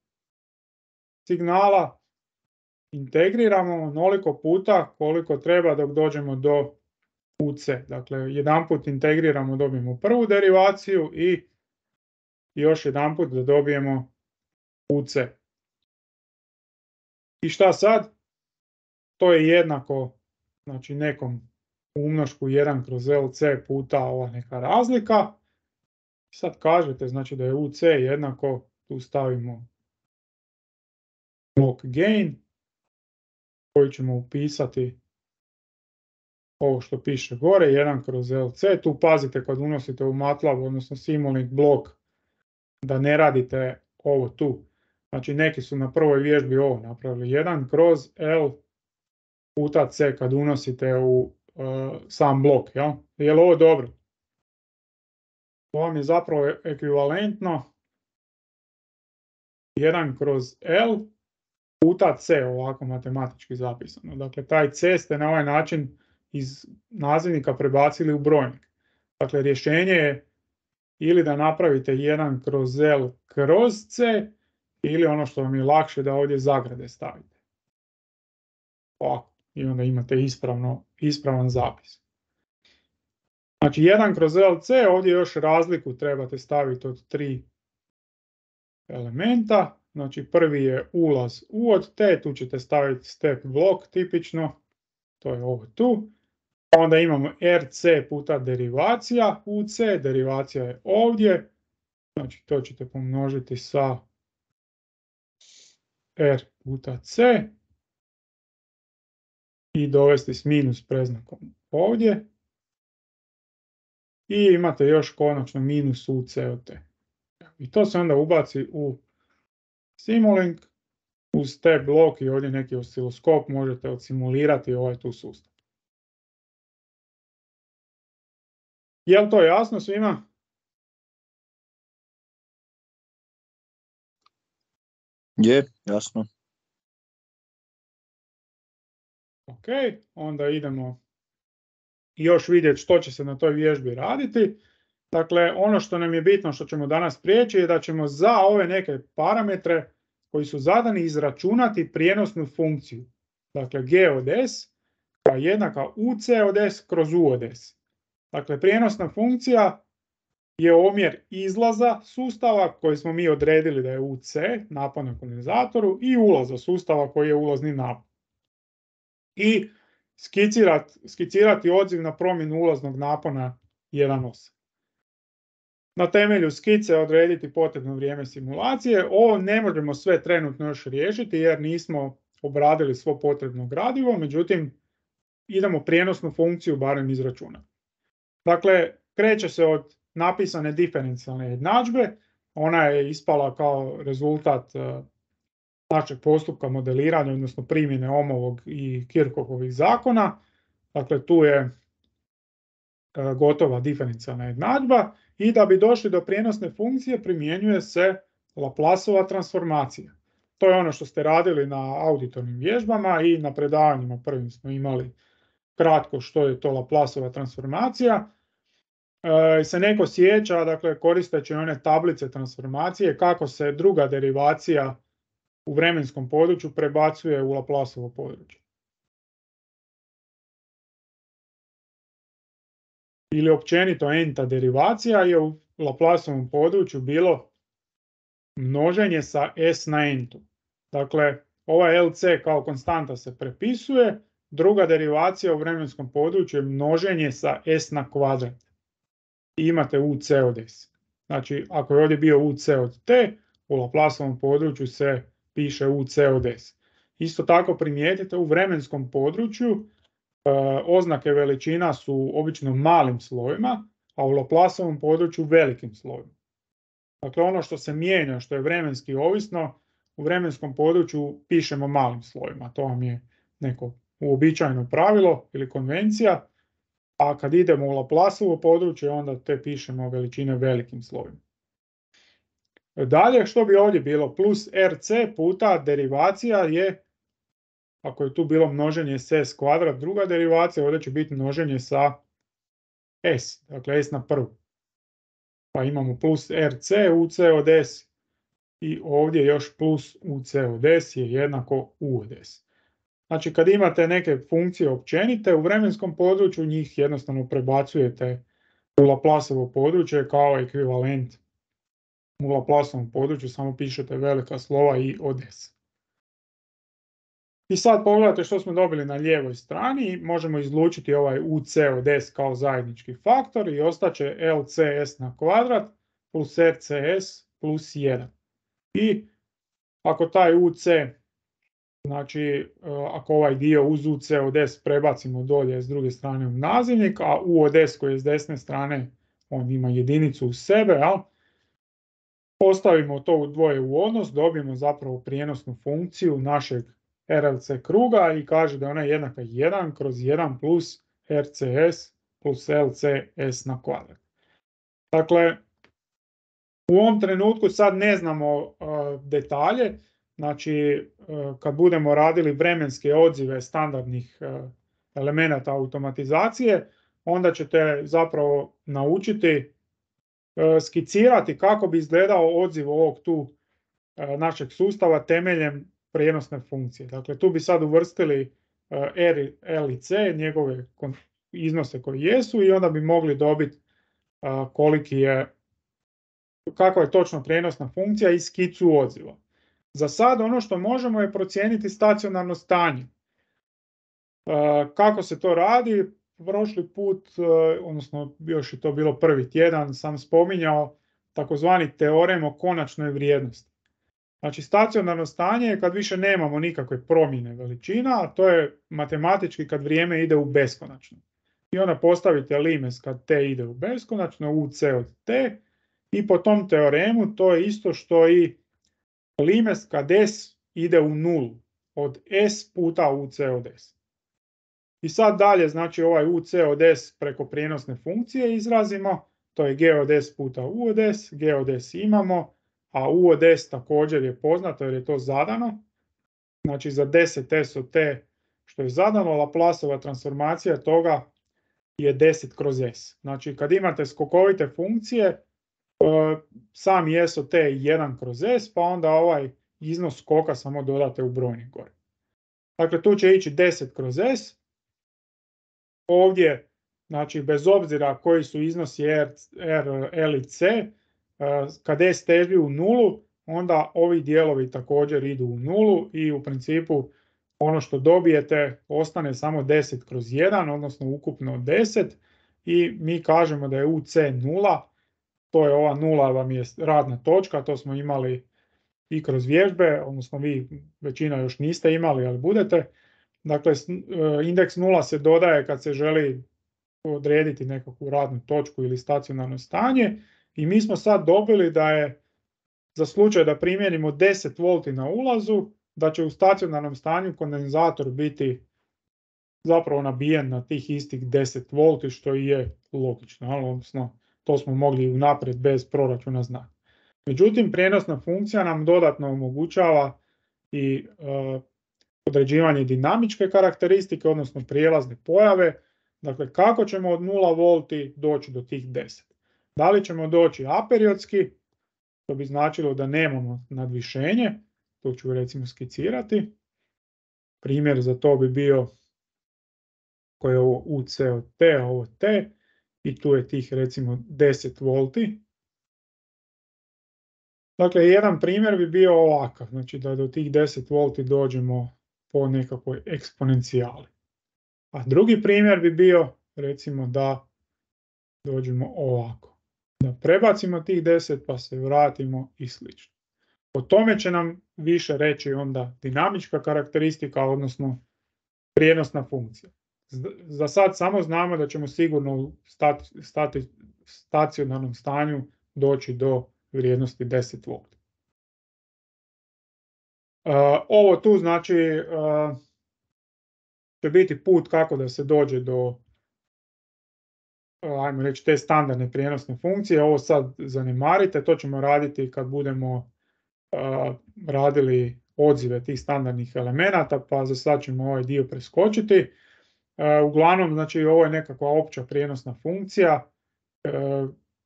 signala integriramo onoliko puta koliko treba dok dođemo do UC. Dakle, jedanput integriramo, dobijemo prvu derivaciju i još jedanput da dobijemo UC. I šta sad? To je jednako, znači nekom umnošku 1 kroz LC puta ova neka razlika. Sad kažete znači da je UC jednako, tu stavimo block gain koji ćemo upisati ovo što piše gore, 1 kroz LC. Tu pazite kad unosite u MATLAB, odnosno Simulink blok, da ne radite ovo tu. Znači neki su na prvoj vježbi ovo napravili, 1 kroz L puta C kad unosite u sam blok. Ja? Je li ovo dobro? To vam je zapravo ekvivalentno 1 kroz L puta C, ovako matematički zapisano. Dakle, taj C ste na ovaj način iz nazivnika prebacili u brojnik. Dakle, rješenje je ili da napravite 1 kroz L kroz C, ili ono što vam je lakše da ovdje zagrade stavite. Ovako, i onda imate ispravan zapis. Znači 1 kroz LC, ovdje još razliku trebate staviti od 3 elementa. Znači prvi je ulaz U od T, tu ćete staviti step blok tipično, to je ovo tu. Onda imamo RC puta derivacija UC, derivacija je ovdje, znači to ćete pomnožiti sa R puta C i dovesti s minus predznakom ovdje. I imate još konačno minus UC od T. I to se onda ubaci u Simulink uz te blok i ovdje neki osciloskop možete odsimulirati ovaj tu sustav. Je li to jasno svima? Je, jasno. Ok, onda idemo još vidjeti što će se na toj vježbi raditi. Dakle, ono što nam je bitno što ćemo danas prijeći je da ćemo za ove neke parametre koji su zadani izračunati prijenosnu funkciju. Dakle, G od S koja je jednaka UC od S kroz U od S. Dakle, prijenosna funkcija je omjer izlaza sustava koji smo mi odredili da je UC, napon na kondenzatoru, i ulaza sustava koji je ulazni napon. I skicirati odziv na promjenu ulaznog napona 1,8. Na temelju skice odrediti potrebno vrijeme simulacije. Ovo ne možemo sve trenutno još riješiti jer nismo obradili svo potrebno gradivo, međutim idemo prijenosnu funkciju barem izračunati. Dakle, kreće se od napisane diferencijalne jednadžbe, ona je ispala kao rezultat našeg postupka modeliranja, odnosno primjene Ohmovog i Kirchhoffovih zakona. Dakle, tu je gotova diferencijalna jednadžba i da bi došli do prijenosne funkcije primjenjuje se Laplaceova transformacija. To je ono što ste radili na auditornim vježbama i na predavanjima prvim smo imali kratko što je to Laplaceova transformacija. Se neko sjeća, dakle koristeći one tablice transformacije, kako se druga derivacija u vremenskom području prebacuje u Laplaceovo područje. ili općenito n-ta derivacija je u Laplaceovom području bilo množenje sa s na n-tu. Dakle, ova LC kao konstanta se prepisuje, druga derivacija u vremenskom području je množenje sa s na kvadrat. I imate UC od s. Znači, ako je ovdje bio UC od t, u Laplaceovom području se piše UC od s. Isto tako primijetite u vremenskom području oznake veličina su obično malim slovima, a u Laplaceovom području velikim slovima. Dakle, ono što se mijenja, što je vremenski ovisno, u vremenskom području pišemo malim slovima. To vam je neko uobičajeno pravilo ili konvencija, a kad idemo u Laplaceovo područje, onda te pišemo veličine velikim slovima. Dalje, što bi ovdje bilo? Plus RC puta derivacija je, ako je tu bilo množenje s s kvadrat, druga derivacija, ovdje će biti množenje sa s, dakle s na prvu. Pa imamo plus RC, UC od s i ovdje još plus UC od s je jednako U od s. Znači kad imate neke funkcije općenite, u vremenskom području njih jednostavno prebacujete u Laplaceovo područje kao ekvivalent u Laplaceovom području, samo pišete velika slova i od s. I sad pogledajte što smo dobili na lijevoj strani, možemo izlučiti ovaj UC od s kao zajednički faktor i ostaće LCS na kvadrat plus RCS plus 1. I ako taj UC, znači ako ovaj dio uz UC od s prebacimo dolje s druge strane u nazivnik, a U od s koji je s desne strane, on ima jedinicu u sebe, jel? Postavimo to u dvoje u odnos, dobijemo zapravo prijenosnu funkciju našeg RLC kruga i kaže da je ona jednaka 1 kroz 1 plus RCS plus LCS na kvadrat. Dakle, u ovom trenutku sad ne znamo detalje, znači kad budemo radili vremenske odzive standardnih elemenata automatizacije, onda ćete zapravo naučiti skicirati kako bi izgledao odziv ovog tu našeg sustava temeljem prijenosne funkcije. Dakle, tu bi sad uvrstili R, L i C, njegove iznose koji jesu i onda bi mogli dobiti kakva je točno prijenosna funkcija i skicu odziva. Za sad ono što možemo je procijeniti stacionarno stanje. Kako se to radi? Prošli put, odnosno još je to bilo prvi tjedan, sam spominjao takozvani teorem o konačnoj vrijednosti. Znači stacionarno stanje je kad više nemamo nikakve promjene veličina, a to je matematički kad vrijeme ide u beskonačno. I onda postavite limes kad t ide u beskonačno, UC od t, i po tom teoremu to je isto što i limes kad s ide u nulu, od s puta UC od s. I sad dalje, znači ovaj UC od s preko prijenosne funkcije izrazimo, to je g od s puta u od s, g od s imamo, a u od s također je poznato jer je to zadano. Znači za 10s od t što je zadano, Laplaceova transformacija toga je 10 kroz s. Znači kad imate skokovite funkcije, sami s od t je 1 kroz s, pa onda ovaj iznos skoka samo dodate u brojnik gore. Dakle tu će ići 10 kroz s. Ovdje, znači bez obzira koji su iznosi R, L i C, kad s teži u nulu, onda ovi dijelovi također idu u nulu i u principu ono što dobijete ostane samo 10 kroz 1, odnosno ukupno 10 i mi kažemo da je UC nula, to je ova nula vam je radna točka, to smo imali i kroz vježbe, odnosno vi većina još niste imali, ali budete. Dakle, indeks nula se dodaje kad se želi odrediti nekakvu radnu točku ili stacionarno stanje i mi smo sad dobili da je za slučaj da primijenimo 10 volti na ulazu, da će u stacionarnom stanju kondenzator biti zapravo nabijen na tih istih 10 volti, što i je logično, odnosno to smo mogli unaprijed bez proračuna znati. Međutim, prijenosna funkcija nam dodatno omogućava i određivanje dinamičke karakteristike, odnosno prijelazne pojave. Dakle, kako ćemo od 0 volti doći do tih 10? Da li ćemo doći aperiodski, to bi značilo da nemamo nadvišenje, to ću recimo skicirati. Primjer za to bi bio koji je ovo UC od T, a ovo T, i tu je tih recimo 10 volti. Dakle, jedan primjer bi bio ovakav, znači da do tih 10 volti dođemo po nekakvoj eksponencijali. A drugi primjer bi bio recimo da dođemo ovako. Da prebacimo tih 10 pa se vratimo i slično. O tome će nam više reći onda dinamička karakteristika, odnosno prijenosna funkcija. Za sad samo znamo da ćemo sigurno u stacionarnom stanju doći do vrijednosti 10 volti. Ovo tu znači će biti put kako da se dođe do, ajmo reći, te standardne prijenosne funkcije. Ovo sad zanemarite, to ćemo raditi kad budemo radili odzive tih standardnih elemenata, pa za sad ćemo ovaj dio preskočiti. Uglavnom, znači, ovo je nekakva opća prijenosna funkcija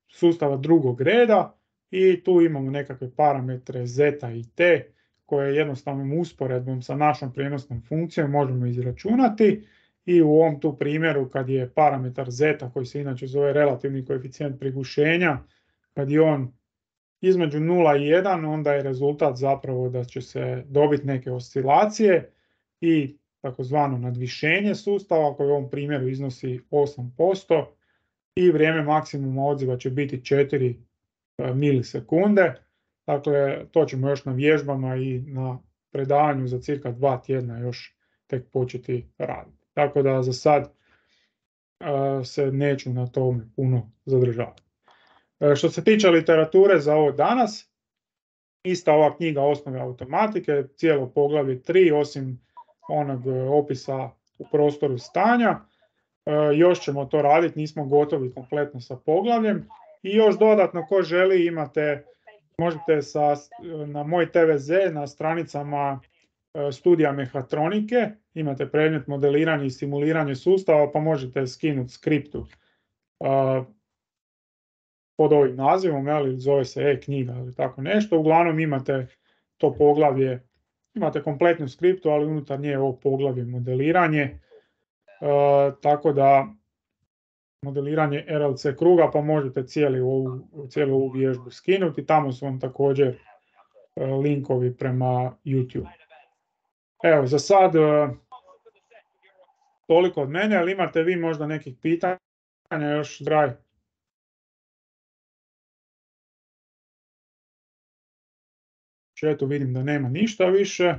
sustava drugog reda i tu imamo nekakve parametre zeta i t koje jednostavnom usporedbom sa našom prijenosnom funkcijom možemo izračunati i u ovom tu primjeru kad je parametar zeta, koji se inače zove relativni koeficijent prigušenja, kad je on između 0 i 1, onda je rezultat zapravo da će se dobiti neke oscilacije i takozvano nadvišenje sustava koje u ovom primjeru iznosi 8% i vrijeme maksimuma odziva će biti 4 milisekunde. Dakle, to ćemo još na vježbama i na predavanju za cirka 2 tjedna još tek početi raditi. Tako da za sad se neću na tome puno zadržavati. Što se tiče literature za ovo danas, ista ova knjiga Osnove automatike, cijelo poglavlje 3, osim onog opisa u prostoru stanja. Još ćemo to raditi, nismo gotovi kompletno sa poglavljem. I još dodatno, ko želi, možete na moj TVZ na stranicama studija mehatronike, imate predmet modeliranje i simuliranje sustava, pa možete skinuti skriptu pod ovim nazivom, zove se e-knjiga ili tako nešto. Uglavnom imate to poglavlje, imate kompletnu skriptu, ali unutar nje je ovo poglavlje modeliranje, tako da modeliranje RLC kruga, pa možete cijelu ovu vježbu skinuti. Tamo su vam također linkovi prema YouTube. Evo, za sad toliko od mene, ali imate vi možda nekih pitanja još, Draj? Tu vidim da nema ništa više.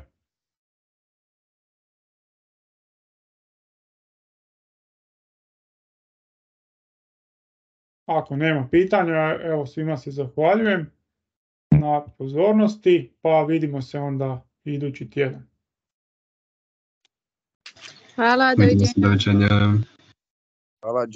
Ako nema pitanja, evo, svima se zahvaljujem na pozornosti, pa vidimo se onda idući tjedan. Hvala, Doviđenja. Hvala.